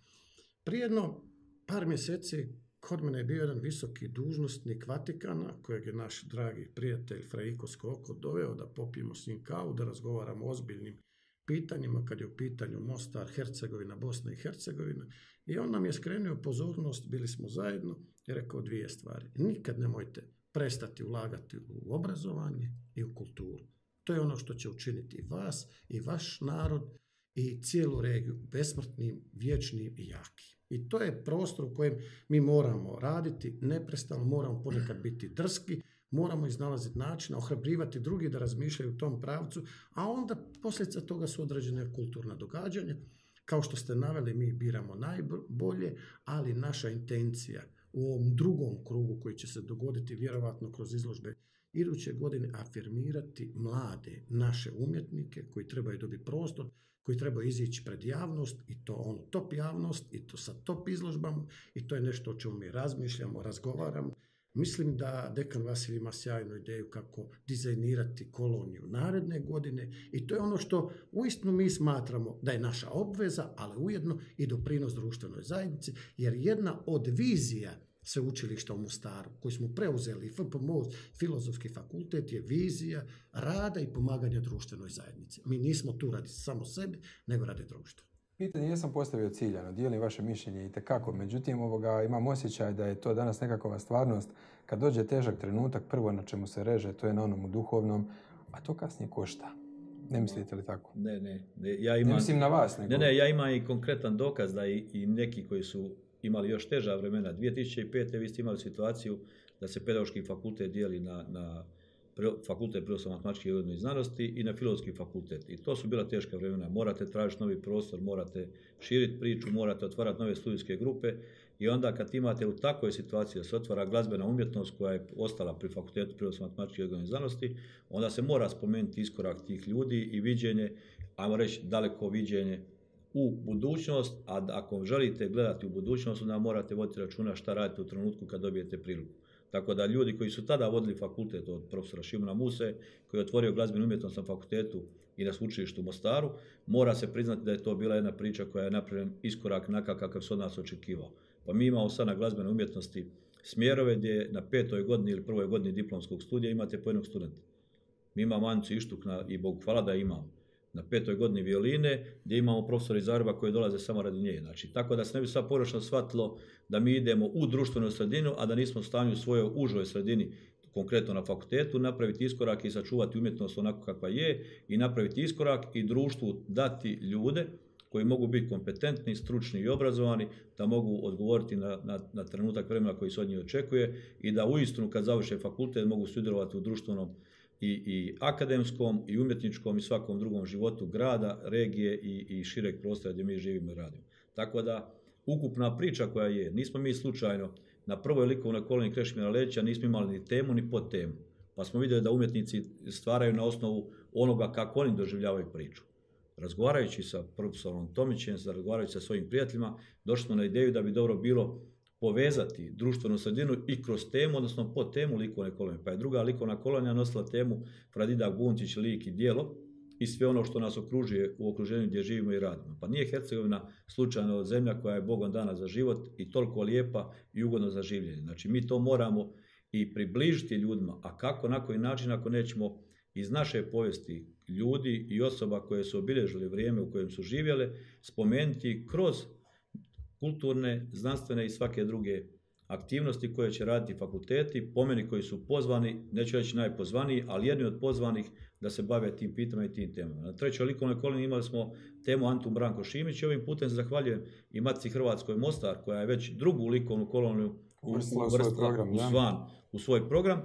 Prije jedno par mjeseci kod mene je bio jedan visoki dužnosnik Vatikana, kojeg je naš dragi prijatelj Frejko Skoko doveo da popijemo s njim kavu, da razgovaramo o ozbiljnim pitanjima kad je u pitanju Mostar, Hercegovina, Bosna i Hercegovina. I on nam je skrenuo pozornost, bili smo zajedno i rekao dvije stvari. Nikad nemojte prestati ulagati u obrazovanje i u kulturu. To je ono što će učiniti i vas i vaš narod i cijelu regiju besmrtnim, vječnim i jakim. I to je prostor u kojem mi moramo raditi, neprestano moramo ponekad biti drski, moramo iznalaziti načina, ohrabrivati drugi da razmišljaju u tom pravcu, a onda posljedica toga su određene kulturna događanja. Kao što ste naveli, mi biramo najbolje, ali naša intencija u ovom drugom krugu koji će se dogoditi vjerovatno kroz izložbe iduće godine afirmirati mlade naše umjetnike koji trebaju dobiti prostor, koji trebaju izići pred javnost i to ono top javnost i to sa top izložbama i to je nešto o čemu mi razmišljamo, razgovaramo. Mislim da dekan Vasilj ima sjajnu ideju kako dizajnirati koloniju naredne godine i to je ono što uistinu mi smatramo da je naša obveza, ali ujedno i doprinos društvenoj zajednici, jer jedna od vizija sveučilišta u Mostaru, koju smo preuzeli, F P M O, Filozofski fakultet, je vizija rada i pomaganja društvenoj zajednici. Mi nismo tu radi samo sebi, nego radi društva. Pitanje jesam postavio ciljano, dijelim vaše mišljenje i tekako, međutim ovoga, imam osjećaj da je to danas nekakva stvarnost. Kad dođe težak trenutak, prvo na čemu se reže, to je na onom duhovnom, a to kasnije košta. Ne mislite li tako? Ne, ne. ne, ja imam, ne mislim na vas. Nego... Ne, ne, ja imam i konkretan dokaz da i, i neki koji su imali još teža vremena. dvije tisuće pete. vi ste imali situaciju da se pedagoški fakultet dijeli na, na fakultet prirodoslovno-matematičke i odgojne znanosti i na filozofski fakultet. I to su bila teška vremena. Morate tražiti novi prostor, morate širiti priču, morate otvarati nove studijske grupe i onda kad imate u takvoj situaciji da se otvara glazbena umjetnost koja je ostala pri fakultetu prirodoslovno-matematičke i odgojne znanosti, onda se mora spomenuti iskorak tih ljudi i viđenje, ajmo reći daleko viđenje u budućnost, a ako želite gledati u budućnost, onda morate voditi računa šta radite u trenutku kad dobijete priliku. Tako da ljudi koji su tada vodili fakultet od profesora Šimuna Muse, koji je otvorio glazbenu umjetnost na fakultetu i na sveučilištu u Mostaru, mora se priznati da je to bila jedna priča koja je napravljen iskorak nakav kakav se od nas očekivao. Pa mi imamo sad na glazbenoj umjetnosti smjerove gdje na petoj godini ili prvoj godini diplomskog studija imate po jednog studenta. Mi imamo Anicu Ištuk na, i Bogu hvala da imamo. Na petoj godini violine, gdje imamo profesora iz Zagreba koji dolaze samo radi nje. Znači, tako da se ne bi sad pogrešno shvatilo da mi idemo u društvenu sredinu, a da nismo u stanju u svojoj užoj sredini, konkretno na fakultetu, napraviti iskorak i sačuvati umjetnost onako kakva je i napraviti iskorak i društvu dati ljude koji mogu biti kompetentni, stručni i obrazovani, da mogu odgovoriti na, na, na trenutak vremena koji se od njih očekuje i da uistinu kad završe fakultet mogu sudjelovati u društvenom i, i akademskom i umjetničkom i svakom drugom životu grada, regije i, i šireg prostora gdje mi živimo i radimo. Tako da ukupna priča koja je, nismo mi slučajno na prvoj likovnoj koloniji Krešimira Ledića nismo imali ni temu ni podtemu, pa smo vidjeli da umjetnici stvaraju na osnovu onoga kako oni doživljavaju priču. Razgovarajući sa profesorom Tomićem, razgovarajući sa svojim prijateljima, došli smo na ideju da bi dobro bilo povezati društvenu sredinu i kroz temu, odnosno pod temu likovne kolonije. Pa je druga likovna kolonija nosila temu Fradidak Buntić, lik i djelo i sve ono što nas okružuje u okruženju gdje živimo i radimo. Pa nije Hercegovina slučajno zemlja koja je Bogom dana za život i toliko lijepa i ugodno za življenje. Znači mi to moramo i približiti ljudima, a kako, na koji način ako nećemo iz naše povijesti ljudi i osoba koje su obilježili vrijeme u kojem su živjele, spomenuti kroz kulturne, znanstvene i svake druge aktivnosti koje će raditi fakulteti, po meni koji su pozvani, neću reći najpozvaniji, ali jedni od pozvanih da se bave tim pitanjima i tim temama. Na trećoj likovnoj koloniji imali smo temu Antun Branko Šimić i ovim putem se zahvaljujem i Matici Hrvatskoj Mostar, koja je već drugu likovnu koloniju uvrstila u svoj program, u, svan, u svoj program.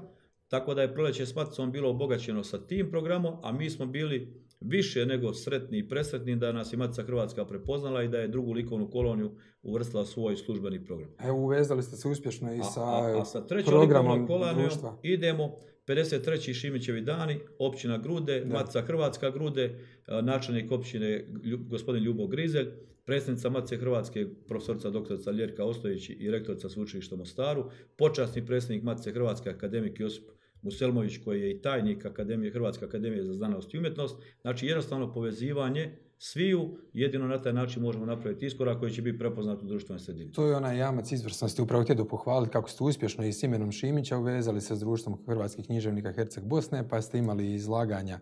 Tako da je proljeće s Maticom bilo obogaćeno sa tim programom, a mi smo bili više nego sretni i presretni da nas i Matica Hrvatska prepoznala i da je drugu likovnu koloniju uvrstila u svoj službeni program. Evo, uvezali ste se uspješno i sa, a, a, a sa programom društva. Idemo pedeset treći Šimićevi dani, općina Grude, da. Matica Hrvatska Grude, načelnik općine gospodin Ljubo Grizelj, predsjednica Matice Hrvatske profesorica doktorica Ljerka Ostojić i rektorica sveučilišta u Mostaru, počasni predsjednik Matice Hrvatske akademik Josip Muselmović koji je i tajnik Akademije, Hrvatske akademije za znanost i umjetnost. Znači jednostavno povezivanje sviju, jedino na taj način možemo napraviti iskorak koji će biti prepoznat u društvenoj sredini. To je onaj jamac izvrsnosti. Upravo htjedu pohvaliti kako ste uspješno i s imenom Šimića uvezali se s društvom hrvatskih književnika Herceg Bosne, pa ste imali izlaganja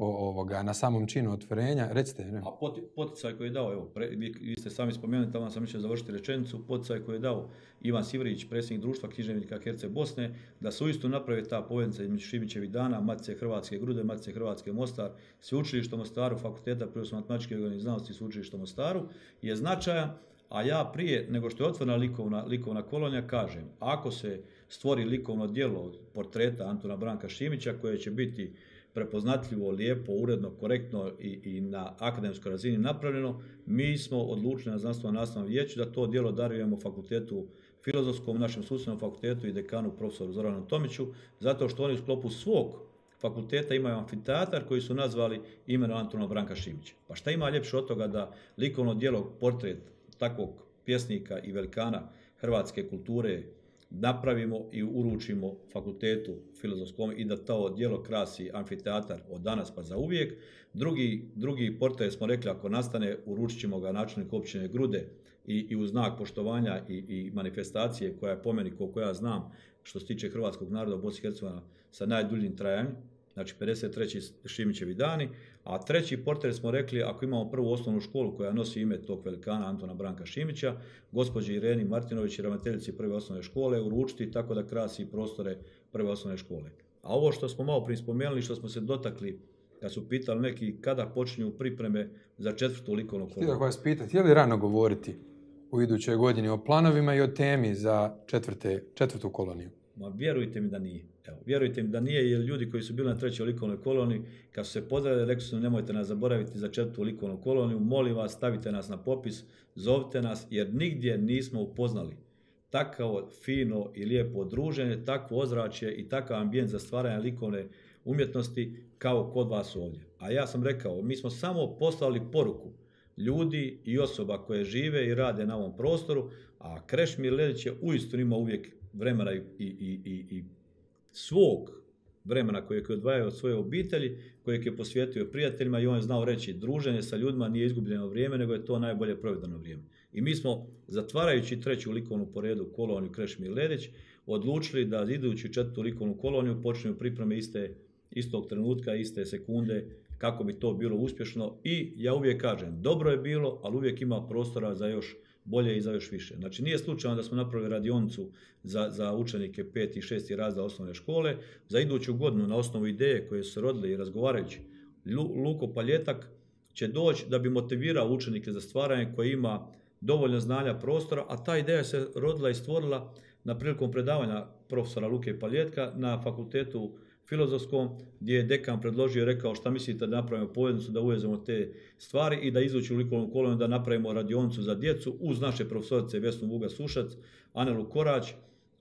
ovoga na samom činu otvorenja. Recite. Ne? A poticaj koji je dao, evo, pre, vi, vi ste sami spomenuli, tamo sam mislio završiti rečenicu, poticaj koji je dao Ivan Sivrić, predsjednik društva književnika Herceg Bosne, da se uistinu napravi ta poveznica između Šimićevih dana, Matice Hrvatske Grude, Matice Hrvatske Mostar, sveučilišta u Mostaru, fakulteta prirodosno-matematičke znanosti i sveučilišta u Mostaru, je značajan, a ja prije nego što je otvorena likovna, likovna kolonija kažem, ako se stvori likovno djelo portreta Antuna Branka Šimića koje će biti prepoznatljivo, lijepo, uredno, korektno i, i na akademskoj razini napravljeno, mi smo odlučili na znanstveno nastavnom vijeću da to djelo darujemo fakultetu filozofskom, našem susjednom fakultetu i dekanu profesoru Zoranu Tomiću, zato što oni u sklopu svog fakulteta imaju amfiteatar koji su nazvali imenom Antuna Branka Šimića. Pa šta ima ljepše od toga da likovno djelo, portret takvog pjesnika i velikana hrvatske kulture napravimo i uručimo fakultetu filozofskom i da to djelo krasi amfiteatar od danas pa za uvijek. Drugi, drugi portret smo rekli ako nastane, uručit ćemo ga načelniku općine Grude i, i u znak poštovanja i, i manifestacije koja je po meni, koliko ja znam, što se tiče hrvatskog naroda u Bosni i Hercegovini sa najduljim trajanjem, znači pedeset treći Šimićevi dani, a treći portret smo rekli ako imamo prvu osnovnu školu koja nosi ime tog velikana Antuna Branka Šimića, gospođi Ireni Martinović i ravnateljici prve osnovne škole uručiti tako da krasi prostore prve osnovne škole. A ovo što smo malo prije spomenuli, što smo se dotakli, kad su pitali neki kada počinju pripreme za četvrtu likovnu koloniju. Htio vas pitati, je li rano govoriti u idućoj godini o planovima i o temi za četvrte, četvrtu koloniju? Ma vjerujte mi da nije. Evo, vjerujte mi da nije, jer ljudi koji su bili na trećoj likovnoj koloniji, kad su se pozdravili, rekli su nemojte nas zaboraviti za četvrtu likovnu koloniju, molim vas, stavite nas na popis, zovite nas, jer nigdje nismo upoznali takvo fino i lijepo druženje, takvo ozračje i takav ambijent za stvaranje likovne umjetnosti kao kod vas ovdje. A ja sam rekao, mi smo samo poslali poruku ljudi i osoba koje žive i rade na ovom prostoru, A Krešimir Ledić je uistinu imao uvijek vremena i, i, i, i svog vremena kojeg je odvajao od svoje obitelji, kojeg je posvetio prijateljima i on je znao reći druženje sa ljudima nije izgubljeno vrijeme, nego je to najbolje provedeno vrijeme. I mi smo, zatvarajući treću likovnu po redu koloniju Krešimir Ledić, odlučili da idući četvrtu likovnu koloniju počinju pripreme iste, istog trenutka, iste sekunde, kako bi to bilo uspješno. I ja uvijek kažem, dobro je bilo, ali uvijek ima prostora za još bolje i za još više. Znači nije slučajno da smo napravili radionicu za, za učenike peti i šesti razreda osnovne škole. Za iduću godinu na osnovu ideje koje su se rodile i razgovarajući, Luko Paljetak će doći da bi motivirao učenike za stvaranje koji ima dovoljno znanja prostora, a ta ideja se rodila i stvorila na prilikom predavanja profesora Luke Paljetka na fakultetu filozofskom, gdje je dekan predložio i rekao šta mislite da napravimo poveznicu, da uvezemo te stvari i da izući u likovnu koloniju, da napravimo radionicu za djecu uz naše profesorice Vesnu Vuga Sušac, Anelu Korać.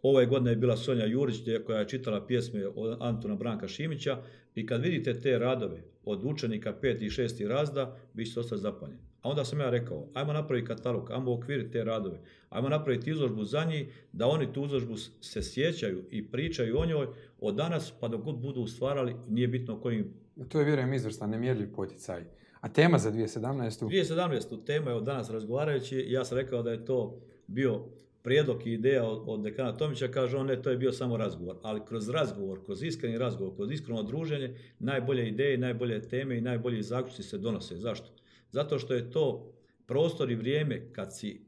Ove godine je bila Sonja Jurić koja je čitala pjesme od Antuna Branka Šimića i kad vidite te radove od učenika peti i šesti razreda, vi ćete ostati zapanjeni. A onda sam ja rekao, ajmo napraviti katalog, ajmo okviriti te radove, ajmo napraviti izložbu za njih, da oni tu izložbu se sjećaju i pričaju o njoj od danas pa dok god budu stvarali, nije bitno kojim. To je, vjerujem, izvrstan, nemjerljiv poticaj. A tema za dvije tisuće sedamnaestu? dvije tisuće sedamnaestu tema je od danas razgovarajući, ja sam rekao da je to bio prijedlog i ideja od, od dekana Tomića, kaže on, ne, to je bio samo razgovor, ali kroz razgovor, kroz iskreni razgovor, kroz iskreno druženje, najbolje ideje, najbolje teme i najbolji zaključci se donose. Zašto? Zato što je to prostor i vrijeme kad si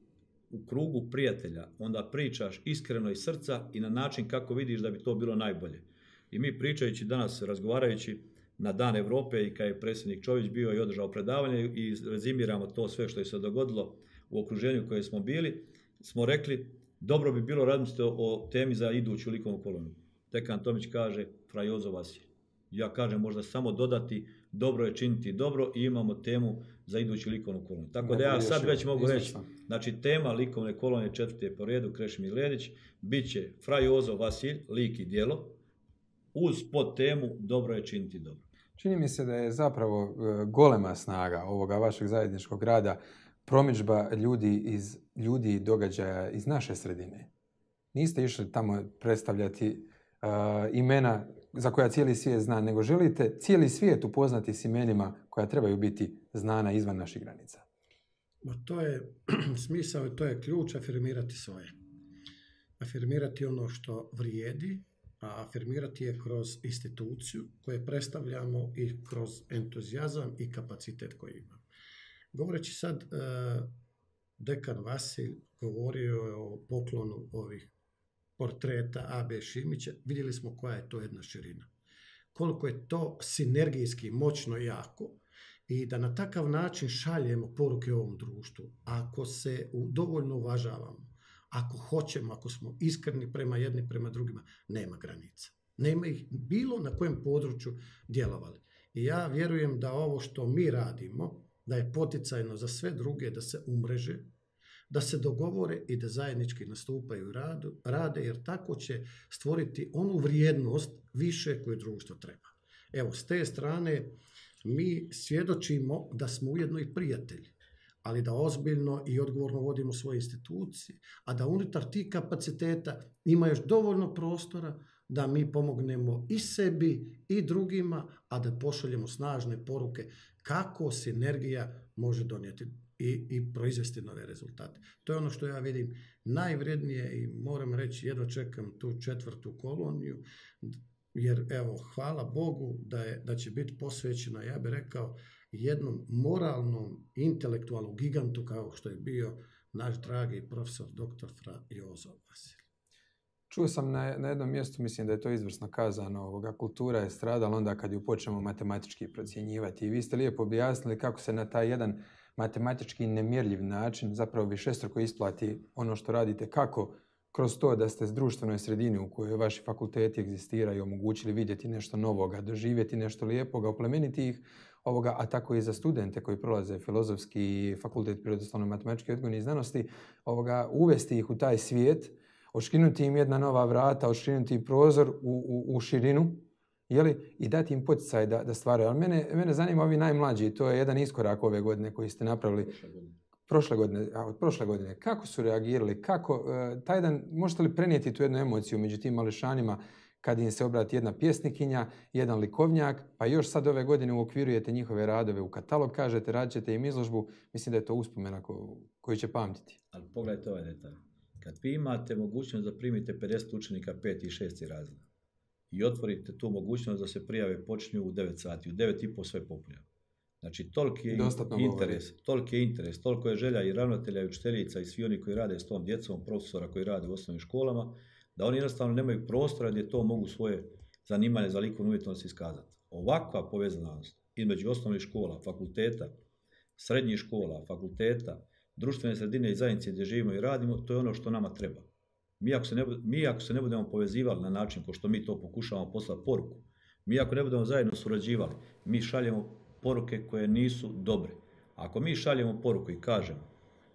u krugu prijatelja, onda pričaš iskreno iz srca i na način kako vidiš da bi to bilo najbolje. I mi pričajući danas, razgovarajući na Dan Europe i kad je predsjednik Čović bio i održao predavanje i rezimiramo to sve što je se dogodilo u okruženju koje smo bili, smo rekli, dobro bi bilo razmisliti o temi za iduću likovnu koloniju. Dekan Tomić kaže, fra Jozo Vasilj. Ja kažem, možda samo dodati, dobro je činiti dobro i imamo temu za iduću likovnu koloniju. Tako da ja sad već mogu reći, znači tema likovne kolonije četvrte po redu, Krešimir Ledić, bit će fra Jozo Vasilj, lik i djelo, uz pod temu dobro je činiti dobro. Čini mi se da je zapravo golema snaga ovoga vašeg zajedničkog rada promidžba ljudi iz ljudi i događaja iz naše sredine. Niste išli tamo predstavljati uh, imena za koja cijeli svijet zna, nego želite cijeli svijet upoznati s imenima koja trebaju biti znana izvan naših granica. Ma to je smisao i to je ključ, afirmirati svoje. Afirmirati ono što vrijedi, a afirmirati je kroz instituciju koju predstavljamo i kroz entuzijazam i kapacitet koji imamo. Govoreći sad, dekan Vasilj govorio je o poklonu ovih portreta A B Šimića, vidjeli smo koja je to jedna širina. Koliko je to sinergijski moćno i jako i da na takav način šaljemo poruke ovom društvu. Ako se dovoljno uvažavamo, ako hoćemo, ako smo iskreni prema jedni, prema drugima, nema granica. Nema ih bilo na kojem području djelovali. I ja vjerujem da ovo što mi radimo, da je poticajno za sve druge da se umreže, da se dogovore i da zajednički nastupaju radu, rade, jer tako će stvoriti onu vrijednost više koju društvo treba. Evo, s te strane mi svjedočimo da smo ujedno i prijatelji, ali da ozbiljno i odgovorno vodimo svoje institucije, a da unutar tih kapaciteta ima još dovoljno prostora da mi pomognemo i sebi i drugima, a da pošaljemo snažne poruke kako sinergija može donijeti i, i proizvesti nove rezultate. To je ono što ja vidim najvrednije i moram reći, jedva čekam tu četvrtu koloniju, jer evo, hvala Bogu da, je, da će biti posvećena, ja bih rekao, jednom moralnom, intelektualnom gigantu kao što je bio naš dragi profesor doktor fra Jozo Vasilj. Čuo sam na, na jednom mjestu, mislim da je to izvrsno kazano, ovoga, kultura je stradala onda kad ju počnemo matematički procjenjivati. I vi ste lijepo objasnili kako se na taj jedan matematički nemjerljiv način zapravo višestruko isplati ono što radite, kako kroz to da ste s društvenoj sredini u kojoj vaši fakulteti egzistiraju omogućili vidjeti nešto novoga, doživjeti nešto lijepoga, oplemeniti ih, ovoga, a tako i za studente koji prolaze filozofski fakultet prirodoslovno-matematičke odgojne i znanosti, ovoga, uvesti ih u taj svijet, odškrinuti im jedna nova vrata, odškrinuti prozor u, u, u širinu, jeli, i dati im poticaj da, da stvaraju. Ali mene, mene zanima ovi najmlađi, to je jedan iskorak ove godine koji ste napravili. prošle godine, a od prošle godine, kako su reagirali, kako, taj dan, možete li prenijeti tu jednu emociju među tim mališanima kad im se obrati jedna pjesnikinja, jedan likovnjak, pa još sad ove godine uokvirujete njihove radove u katalog, kažete, radit ćete im izložbu, mislim da je to uspomena ko, koju će pamtiti. Ali pogledajte ovaj detalj. Kad vi imate mogućnost da primite pedeset učenika peti i šesti razred i otvorite tu mogućnost da se prijave počinju u devet sati, u devet i po sve popunjeno. Znači, toliki je interes, toliki je interes, toliko je želja i ravnatelja i učiteljica i svi oni koji rade s tom djecom, profesora koji rade u osnovnim školama, da oni jednostavno nemaju prostora gdje to mogu svoje zanimanje za likovnu umjetnost iskazati. Ovakva povezanost između osnovnih škola, fakulteta, srednjih škola, fakulteta, društvene sredine i zajednice gdje živimo i radimo, to je ono što nama treba. Mi ako se ne, mi ako se ne budemo povezivali na način ko što mi to pokušavamo poslati poruku, mi ako ne budemo zajedno surađivali, mi šaljemo poruke koje nisu dobre. Ako mi šaljemo poruku i kažemo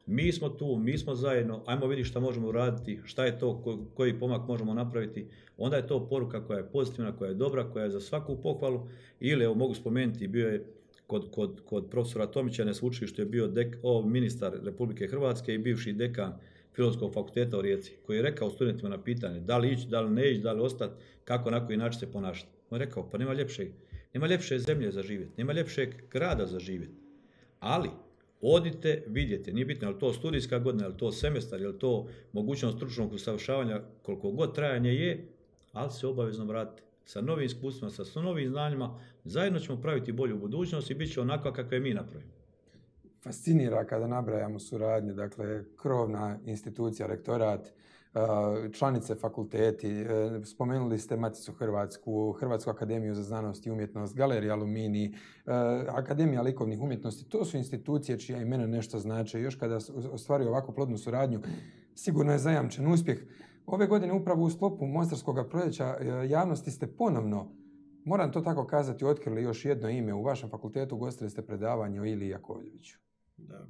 mi smo tu, mi smo zajedno, ajmo vidjeti šta možemo uraditi, šta je to, ko, koji pomak možemo napraviti, onda je to poruka koja je pozitivna, koja je dobra, koja je za svaku pohvalu. Ili, evo mogu spomenuti, bio je kod, kod, kod profesora Tomića na sveučilištu je bio dek, o, ministar Republike Hrvatske i bivši dekan Filozofskog fakulteta u Rijeci, koji je rekao studentima na pitanje da li ići, da li ne ići, da li ostati, kako na koji način se ponašati. On je rekao, pa nema ljepše, nema ljepše zemlje za živjeti, nema ljepšeg grada za živjeti, ali odite, vidjeti, nije bitno je li to studijska godina, je li to semestar, je li to mogućnost stručnog usavršavanja, koliko god trajanje je, ali se obavezno vratite sa novim iskustvima, sa novim znanjima, zajedno ćemo praviti bolju budućnost i bit će onakva kakve mi napravimo. Fascinira kada nabrajamo suradnje, dakle, krovna institucija, rektorat, članice fakulteti, spomenuli ste Maticu Hrvatsku, Hrvatsku akademiju za znanost i umjetnost, Galerija Aluminij, Akademija likovnih umjetnosti, to su institucije čija imena nešto znače. Još kada ostvaruju ovako plodnu suradnju, sigurno je zajamčen uspjeh. Ove godine upravo u sklopu Mostarskog proljeća javnosti ste ponovno, moram to tako kazati, otkrili još jedno ime. U vašem fakultetu ugostili ste predavanje o Iliji Jakovljeviću. Da.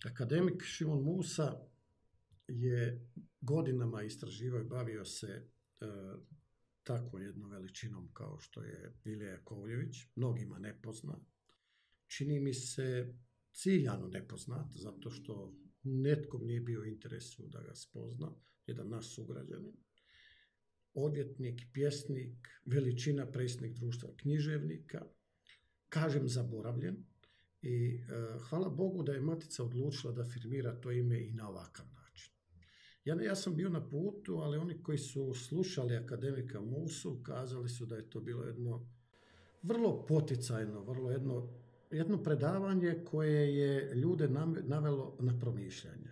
Akademik Šimon Musa je godinama istraživao i bavio se e, tako jednom veličinom kao što je Ilija Jakovljević, mnogima nepoznat. Čini mi se ciljano nepoznat, zato što netkom nije bio u interesu da ga spozna, jedan naš sugrađanin. Odvjetnik, pjesnik, veličina, predsjednik društva književnika, kažem zaboravljen. I e, hvala Bogu da je Matica odlučila da firmira to ime i na ovakav način. Ja, ja sam bio na putu, ali oni koji su slušali akademika Musu kazali su da je to bilo jedno vrlo poticajno, vrlo jedno, jedno predavanje koje je ljude navelo na promišljanje.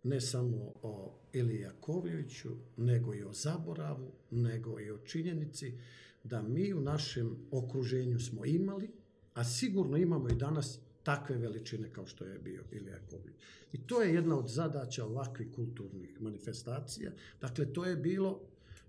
Ne samo o Iliji Jakovljeviću, nego i o zaboravu, nego i o činjenici da mi u našem okruženju smo imali, a sigurno imamo i danas takve veličine kao što je bio Ilija Jakovljević. I to je jedna od zadaća ovakvih kulturnih manifestacija. Dakle, to je bilo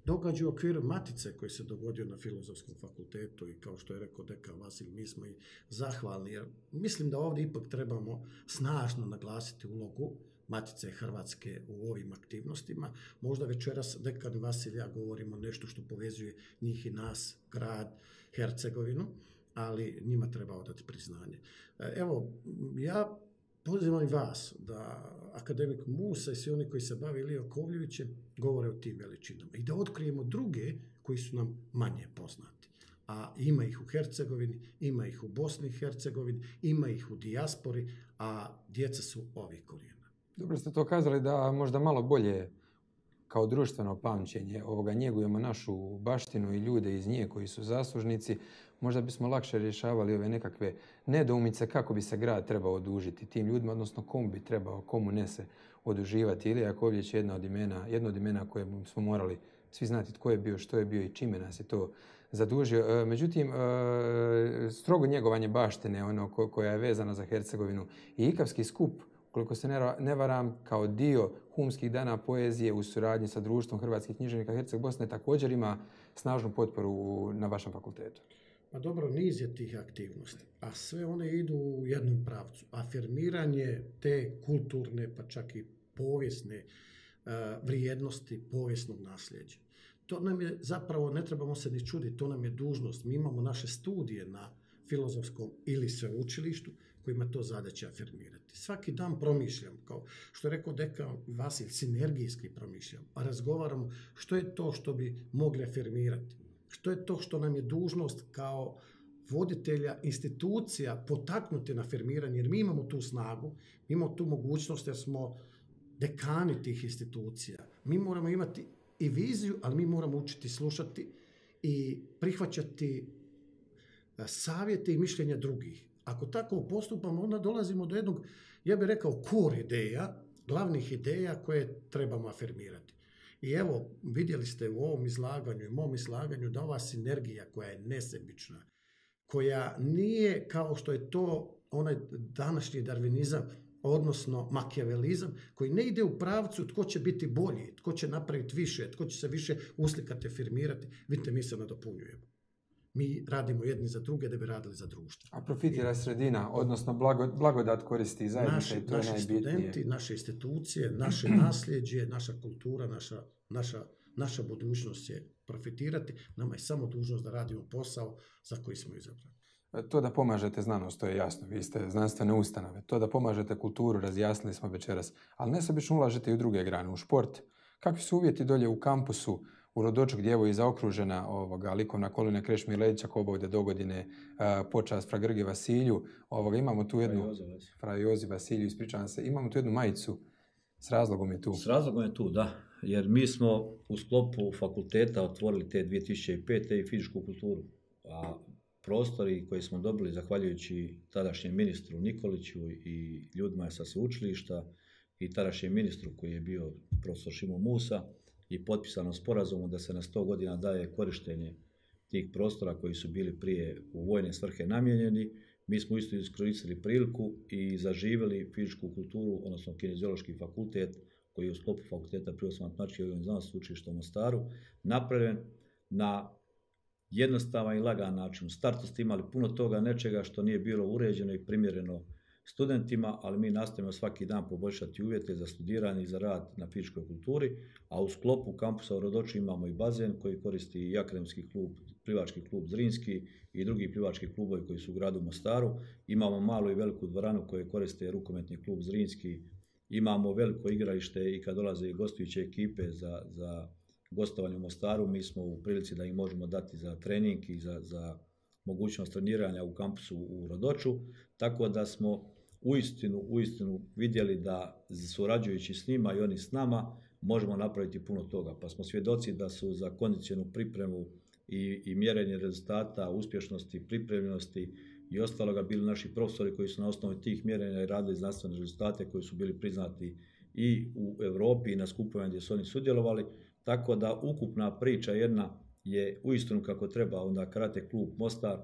događaj u okviru Matice koji se dogodio na Filozofskom fakultetu i kao što je rekao dekan Vasilj, mi smo i zahvalni. Jer mislim da ovdje ipak trebamo snažno naglasiti ulogu Matice Hrvatske u ovim aktivnostima. Možda večeras dekan Vasilj ja govorimo nešto što povezuje njih i nas, grad, Hercegovinu, ali njima treba odati priznanje. Evo, ja pozivam i vas da akademik Musa i svi oni koji se bave Ilijom Jakovljevićem govore o tim veličinama i da otkrijemo druge koji su nam manje poznati. A ima ih u Hercegovini, ima ih u Bosni i Hercegovini, ima ih u dijaspori, a djeca su ovih korijena. Dobro ste to kazali da možda malo bolje kao društveno pamćenje ovoga njegujemo našu baštinu i ljude iz nje koji su zaslužnici, možda bismo lakše rješavali ove nekakve nedoumice kako bi se grad trebao odužiti tim ljudima, odnosno komu bi trebao, komu ne se oduživati. Ilija Jakovljević je jedna od imena, jedno od imena koje smo morali svi znati tko je bio, što je bio i čime nas je to zadužio. Međutim, strogo njegovanje baštine, ono koja je vezana za Hercegovinu i Ikavski skup, koliko se ne varam, kao dio humskih dana poezije u suradnji sa Društvom hrvatskih književnika Herceg Bosne također ima snažnu potporu na vašem fakultetu. Pa dobro, niz je tih aktivnosti, a sve one idu u jednom pravcu. Afirmiranje te kulturne, pa čak i povijesne uh, vrijednosti povijesnog nasljeđa. To nam je zapravo, ne trebamo se ni čuditi, to nam je dužnost. Mi imamo naše studije na Filozofskom ili sveučilištu kojima to zadaća afirmirati. Svaki dan promišljam, kao što je rekao dekan Vasilj, sinergijski promišljam, a razgovaramo što je to što bi mogli afirmirati, što je to što nam je dužnost kao voditelja institucija potaknuti na afirmiranje, jer mi imamo tu snagu, mi imamo tu mogućnost jer smo dekani tih institucija. Mi moramo imati i viziju, ali mi moramo učiti slušati i prihvaćati savjete i mišljenja drugih. Ako tako postupamo, onda dolazimo do jednog, ja bih rekao, core ideja, glavnih ideja koje trebamo afirmirati. I evo, vidjeli ste u ovom izlaganju i mom izlaganju da ova sinergija koja je nesebična, koja nije kao što je to onaj današnji darvinizam, odnosno makijavelizam, koji ne ide u pravcu tko će biti bolji, tko će napraviti više, tko će se više uslikati, afirmirati. Vidite, mi se nadopunjujemo. Mi radimo jedni za druge da bi radili za društvo. A profitira sredina, odnosno blagodat koristi zajednica i to je najbitnije. Naši studenti, naše institucije, naše nasljeđe, naša kultura, naša, naša, naša budućnost je profitirati. Nama je samo dužnost da radimo posao za koji smo izabrani. To da pomažete znanost, to je jasno. Vi ste znanstvene ustanove. To da pomažete kulturu, razjasnili smo večeras. Ali nesebično ulažete i u druge grane, u šport. Kakvi su uvjeti dolje u kampusu, u Rodoču gdje je zaokružena ovoga, likovna kolina Krešimir Ledića ko bude do godine uh, počast fra Grgi Vasilju. Ovoga, imamo tu jednu... Fra Jozi Vasilju, ispričavam se. Imamo tu jednu majicu. S razlogom je tu. S razlogom je tu, da. Jer mi smo u sklopu fakulteta otvorili te dvije tisuće pete i fizičku kulturu. A prostori koje smo dobili zahvaljujući tadašnjem ministru Nikoliću i ljudima sa sveučilišta i tadašnjem ministru koji je bio profesor Šimo Musa i potpisano sporazumom da se na sto godina daje korištenje tih prostora koji su bili prije u vojne svrhe namijenjeni. Mi smo isto iskoristili priliku i zaživjeli fizičku kulturu, odnosno kineziološki fakultet koji je u sklopu fakulteta prirodoslovno-matematičke i znanosti učilišta u Mostaru napravljen na jednostavan i lagan način. U startu ste imali puno toga nečega što nije bilo uređeno i primjereno studentima, ali mi nastavimo svaki dan poboljšati uvjete za studiranje i za rad na fizičkoj kulturi, a u sklopu kampusa u Rodoču imamo i bazen koji koristi i akademski klub, plivački klub Zrinski i drugi plivački klubovi koji su u gradu Mostaru. Imamo malu i veliku dvoranu koje koriste rukometni klub Zrinski. Imamo veliko igralište i kad dolaze i gostujuće ekipe za, za gostovanje u Mostaru, mi smo u prilici da im možemo dati za trening i za, za mogućnost treniranja u kampusu u Rodoču, tako da smo uistinu, uistinu vidjeli da surađujući s njima i oni s nama možemo napraviti puno toga. Pa smo svjedoci da su za kondicionu pripremu i, i mjerenje rezultata, uspješnosti, pripremljenosti i ostaloga bili naši profesori koji su na osnovu tih mjerenja i radili znanstvene rezultate koji su bili priznati i u Europi i na skupovima gdje su oni sudjelovali. Tako da ukupna priča jedna je uistinu kako treba, onda Karate klub Mostar,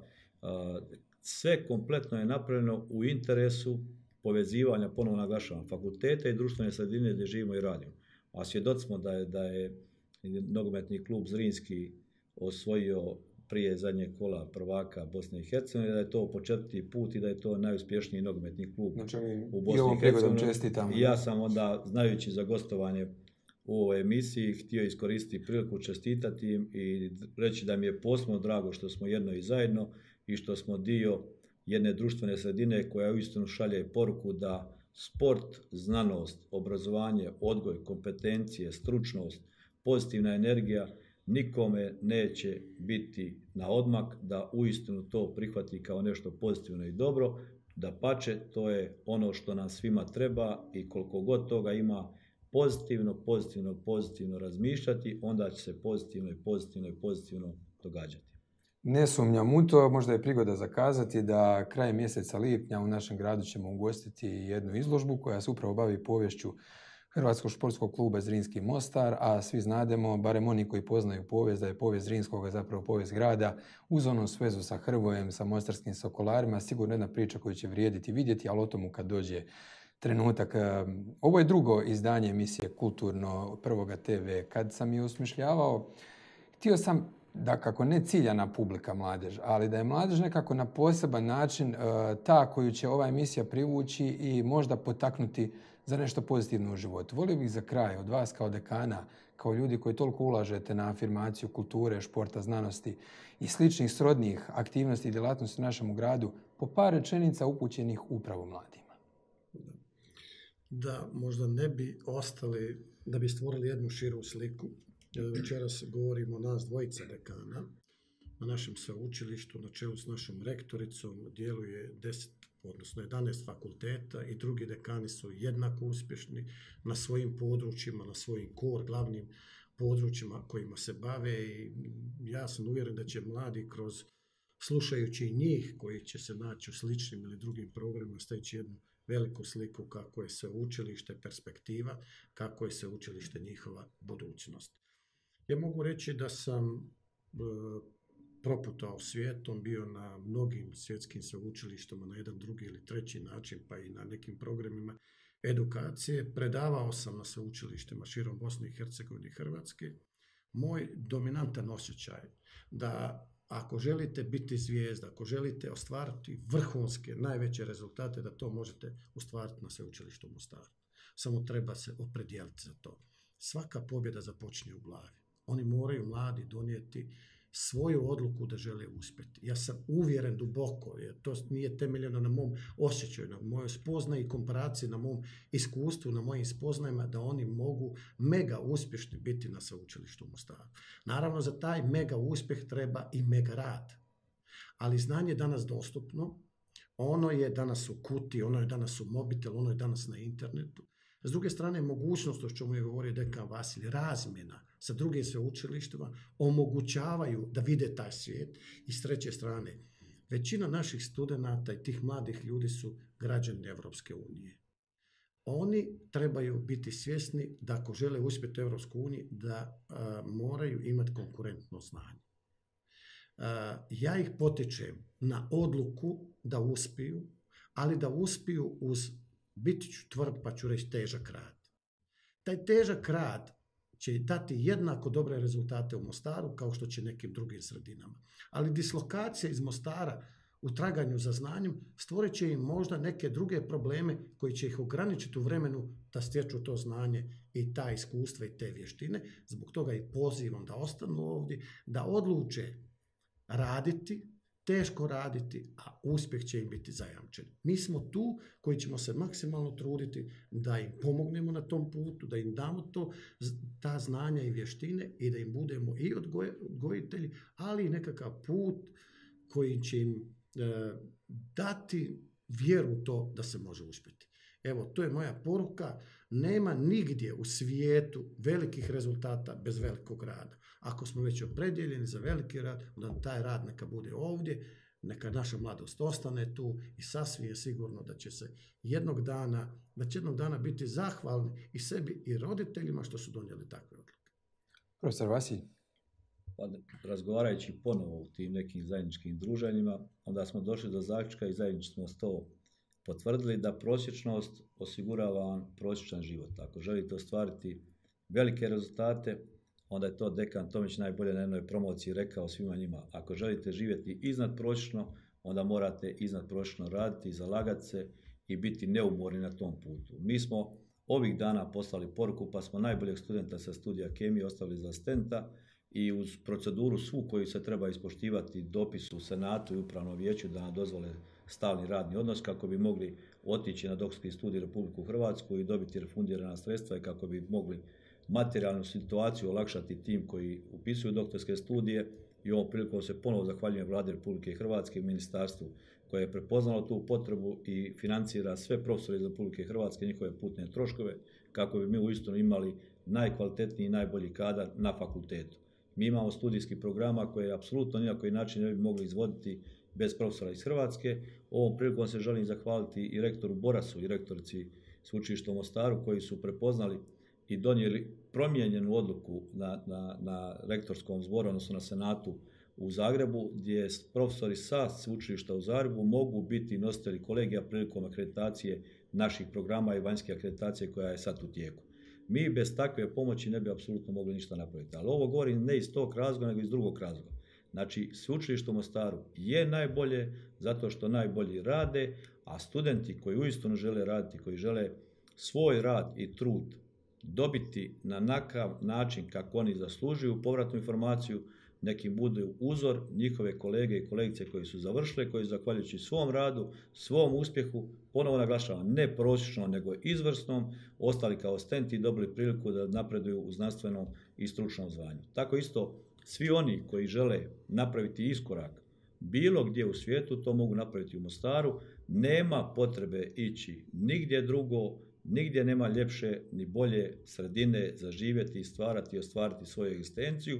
sve kompletno je napravljeno u interesu povezivanja, ponovno naglašavam, fakulteta i društvene sredine gdje živimo i radimo. A svjedoci smo da je, da je nogometni klub Zrinski osvojio prije zadnjeg kola prvaka Bosne i Hercegovine, da je to po četvrti put i da je to najuspješniji nogometni klub znači, u Bosni i Hercegovini. I ja sam onda, znajući za gostovanje u ovoj emisiji, htio iskoristiti priliku čestitati im i reći da mi je posebno drago što smo jedno i zajedno i što smo dio jedne društvene sredine koja uistinu šalje poruku da sport, znanost, obrazovanje, odgoj, kompetencije, stručnost, pozitivna energija nikome neće biti na odmak, da uistinu to prihvati kao nešto pozitivno i dobro, dapače, to je ono što nam svima treba i koliko god toga ima pozitivno, pozitivno, pozitivno razmišljati, onda će se pozitivno i pozitivno i pozitivno događati. Ne sumnjam u to, možda je prigoda zakazati da krajem mjeseca lipnja u našem gradu ćemo ugostiti jednu izložbu koja se upravo bavi poviješću Hrvatskog športskog kluba Zrinski Mostar, a svi znademo, barem oni koji poznaju povijest, da je povijest Zrinskoga zapravo povijest grada uz onu svezu sa Hrvojem, sa mostarskim sokolarima, sigurno jedna priča koju će vrijediti vidjeti, ali o tomu kad dođe trenutak. Ovo je drugo izdanje emisije Kulturno Prvoga te ve. Kad sam je osmišljavao, htio sam da kako ne ciljana publika mladež, ali da je mladež nekako na poseban način uh, ta koju će ova emisija privući i možda potaknuti za nešto pozitivno u životu. Volio bih za kraj od vas kao dekana, kao ljudi koji toliko ulažete na afirmaciju kulture, športa, znanosti i sličnih srodnih aktivnosti i djelatnosti u našem gradu, po par rečenica upućenih upravo mladima. Da možda ne bi ostali, da bi stvorili jednu širu sliku. Večeras govorimo o nas dvojica dekana. Na našem sveučilištu, na čelu s našom rektoricom, djeluje deset, odnosno jedanaest fakulteta i drugi dekani su jednako uspješni na svojim područjima, na svojim kor, glavnim područjima kojima se bave i ja sam uvjeren da će mladi kroz, slušajući njih koji će se naći u sličnim ili drugim programima, steći jednu veliku sliku kako je sveučilište perspektiva, kako je sveučilište njihova budućnost. Ja mogu reći da sam e, proputao svijetom, bio na mnogim svjetskim sveučilištima na jedan drugi ili treći način, pa i na nekim programima edukacije. Predavao sam na sveučilištima širom Bosne i Hercegovine i Hrvatske. Moj dominantan osjećaj da ako želite biti zvijezda, ako želite ostvariti vrhunske, najveće rezultate, da to možete ostvariti na sveučilištu u Mostaru. Samo treba se opredijeliti za to. Svaka pobjeda započinje u glavi. Oni moraju mladi donijeti svoju odluku da žele uspjeti. Ja sam uvjeren duboko, jer to nije temeljeno na mom osjećaju, na mojoj spoznaji i komparaciji, na mom iskustvu, na mojim spoznajima, da oni mogu mega uspješni biti na sveučilištu u Mostaru. Naravno, za taj mega uspjeh treba i mega rad. Ali znanje je danas dostupno, ono je danas u kuti, ono je danas u mobitel, ono je danas na internetu. S druge strane, mogućnost, o čemu je govorio dekan Vasilij, razmjena sa drugim sveučilištima omogućavaju da vide taj svijet. I s treće strane, većina naših studenata i tih mladih ljudi su građani Evropske unije. Oni trebaju biti svjesni da ako žele uspjeti u Evropskoj uniji, da a, moraju imati konkurentno znanje. A, ja ih potičem na odluku da uspiju, ali da uspiju uz, biti ću tvrd pa ću reći, težak rad. Taj težak rad će dati jednako dobre rezultate u Mostaru kao što će nekim drugim sredinama. Ali dislokacija iz Mostara u traganju za znanjem stvorit će im možda neke druge probleme koji će ih ograničiti u vremenu da stječu to znanje i ta iskustva i te vještine. Zbog toga i pozivam da ostanu ovdje, da odluče raditi, teško raditi, a uspjeh će im biti zajamčen. Mi smo tu koji ćemo se maksimalno truditi da im pomognemo na tom putu, da im damo to, ta znanja i vještine i da im budemo i odgoj, odgojitelji, ali i nekakav put koji će im e, dati vjeru u to da se može uspjeti. Evo, to je moja poruka. Nema nigdje u svijetu velikih rezultata bez velikog rada. Ako smo već opredjeljeni za veliki rad, onda taj rad neka bude ovdje, neka naša mladost ostane tu i sasvim je sigurno da će se jednog dana, da će jednog dana biti zahvalni i sebi i roditeljima što su donijeli takve odluke. Profesor Vasilj. Pa, razgovarajući ponovo u tim nekim zajedničkim druženjima, onda smo došli do zaključka i zajednički smo to potvrdili da prosječnost osigurava prosječan život. Ako želite ostvariti velike rezultate, onda je to dekan Tomić najbolje na jednoj promociji rekao svima njima. Ako želite živjeti iznad prosječno, onda morate iznad prosječno raditi, zalagati se i biti neumorni na tom putu. Mi smo ovih dana poslali poruku, pa smo najboljeg studenta sa studija kemije ostavili za asistenta i uz proceduru svu koju se treba ispoštivati, dopis u Senatu i Upravnom vijeću da nam dozvole stalni radni odnos kako bi mogli otići na doktorski studij Republiku Hrvatsku i dobiti refundirana sredstva i kako bi mogli materijalnu situaciju olakšati tim koji upisuju doktorske studije. I ovom prilikom se ponovo zahvaljujem Vladi Republike Hrvatske i ministarstvu koje je prepoznalo tu potrebu i financira sve profesore iz Republike Hrvatske, njihove putne troškove, kako bi mi uistinu imali najkvalitetniji i najbolji kadar na fakultetu. Mi imamo studijski programa koje apsolutno ni na koji način ne bi mogli izvoditi bez profesora iz Hrvatske. Ovom prilikom se želim zahvaliti i rektoru Borasu i rektorici Sveučilišta u Mostaru koji su prepoznali i donijeli promijenjenu odluku na, na, na rektorskom zboru, odnosno na Senatu u Zagrebu, gdje profesori sa Sveučilišta u Zagrebu mogu biti nositelji kolegija prilikom akreditacije naših programa i vanjske akreditacije koja je sad u tijeku. Mi bez takve pomoći ne bi apsolutno mogli ništa napraviti. Ali ovo govorim ne iz tog razloga, nego iz drugog razloga. Znači, Sveučilište u Mostaru je najbolje zato što najbolji rade, a studenti koji uistinu žele raditi, koji žele svoj rad i trud dobiti na nakav način kako oni zaslužuju povratnu informaciju, neki budu uzor njihove kolege i kolegice koji su završile, koji zahvaljujući svom radu, svom uspjehu, ponovo naglašavam, ne prosječno, nego izvrsnom, ostali kao stenti i dobili priliku da napreduju u znanstvenom i stručnom zvanju. Tako isto, svi oni koji žele napraviti iskorak bilo gdje u svijetu, to mogu napraviti u Mostaru. Nema potrebe ići nigdje drugo, nigdje nema ljepše ni bolje sredine za živjeti, stvarati i ostvariti svoju egzistenciju,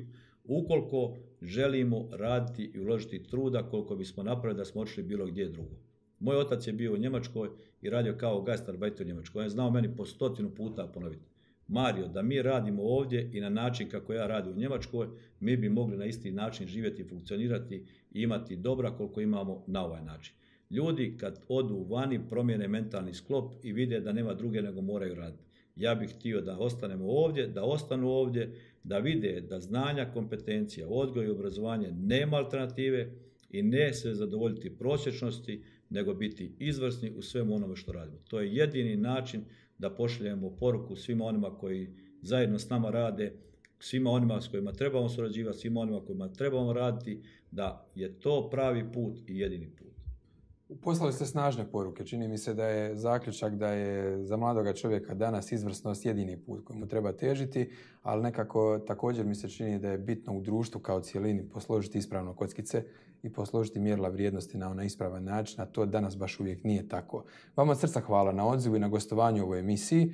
ukoliko želimo raditi i uložiti truda koliko bismo napravili da smo otišli bilo gdje drugo. Moj otac je bio u Njemačkoj i radio kao gastarbeiter u Njemačkoj. On je znao meni po stotinu puta ponoviti: Mario, da mi radimo ovdje i na način kako ja radim u Njemačkoj, mi bi mogli na isti način živjeti i funkcionirati i imati dobra koliko imamo na ovaj način. Ljudi kad odu vani promijene mentalni sklop i vide da nema druge nego moraju raditi. Ja bih htio da ostanemo ovdje, da ostanu ovdje, da vide da znanja, kompetencija, odgoj i obrazovanje nema alternative i ne se zadovoljiti prosječnosti, nego biti izvrsni u svemu onome što radimo. To je jedini način da pošaljemo poruku svima onima koji zajedno s nama rade, svima onima s kojima trebamo surađivati, svima onima kojima trebamo raditi, da je to pravi put i jedini put. Poslali ste snažne poruke. Čini mi se da je zaključak da je za mladoga čovjeka danas izvrsnost jedini put kojemu treba težiti, ali nekako također mi se čini da je bitno u društvu kao cijelini posložiti ispravno kockice i posložiti mjerila vrijednosti na onaj ispravan način, a to danas baš uvijek nije tako. Vama od srca hvala na odzivu i na gostovanju u ovoj emisiji.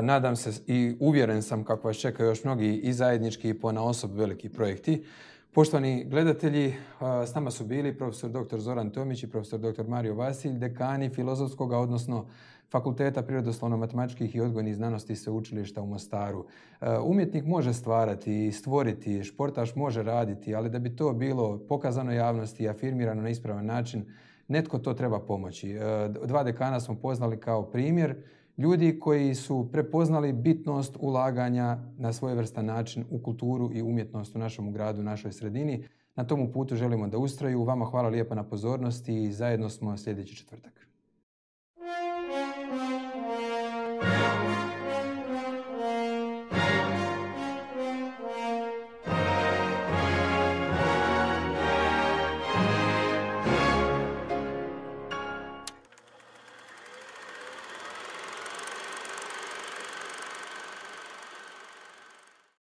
Nadam se i uvjeren sam kako vas čekaju još mnogi i zajednički i ponaosob veliki projekti. Poštovani gledatelji, s nama su bili profesor doktor Zoran Tomić i profesor doktor Mario Vasilj, dekani Filozofskog, odnosno Fakulteta prirodoslovno-matematičkih i odgojnih znanosti Sveučilišta u Mostaru. Umjetnik može stvarati i stvoriti, športaš može raditi, ali da bi to bilo pokazano javnosti i afirmirano na ispravan način, netko to treba pomoći. Dva dekana smo poznali kao primjer ljudi koji su prepoznali bitnost ulaganja na svojevrstan način u kulturu i umjetnost u našem gradu, u našoj sredini. Na tomu putu želimo da ustraju. Vama hvala lijepa na pozornosti i zajedno smo sljedeći četvrtak.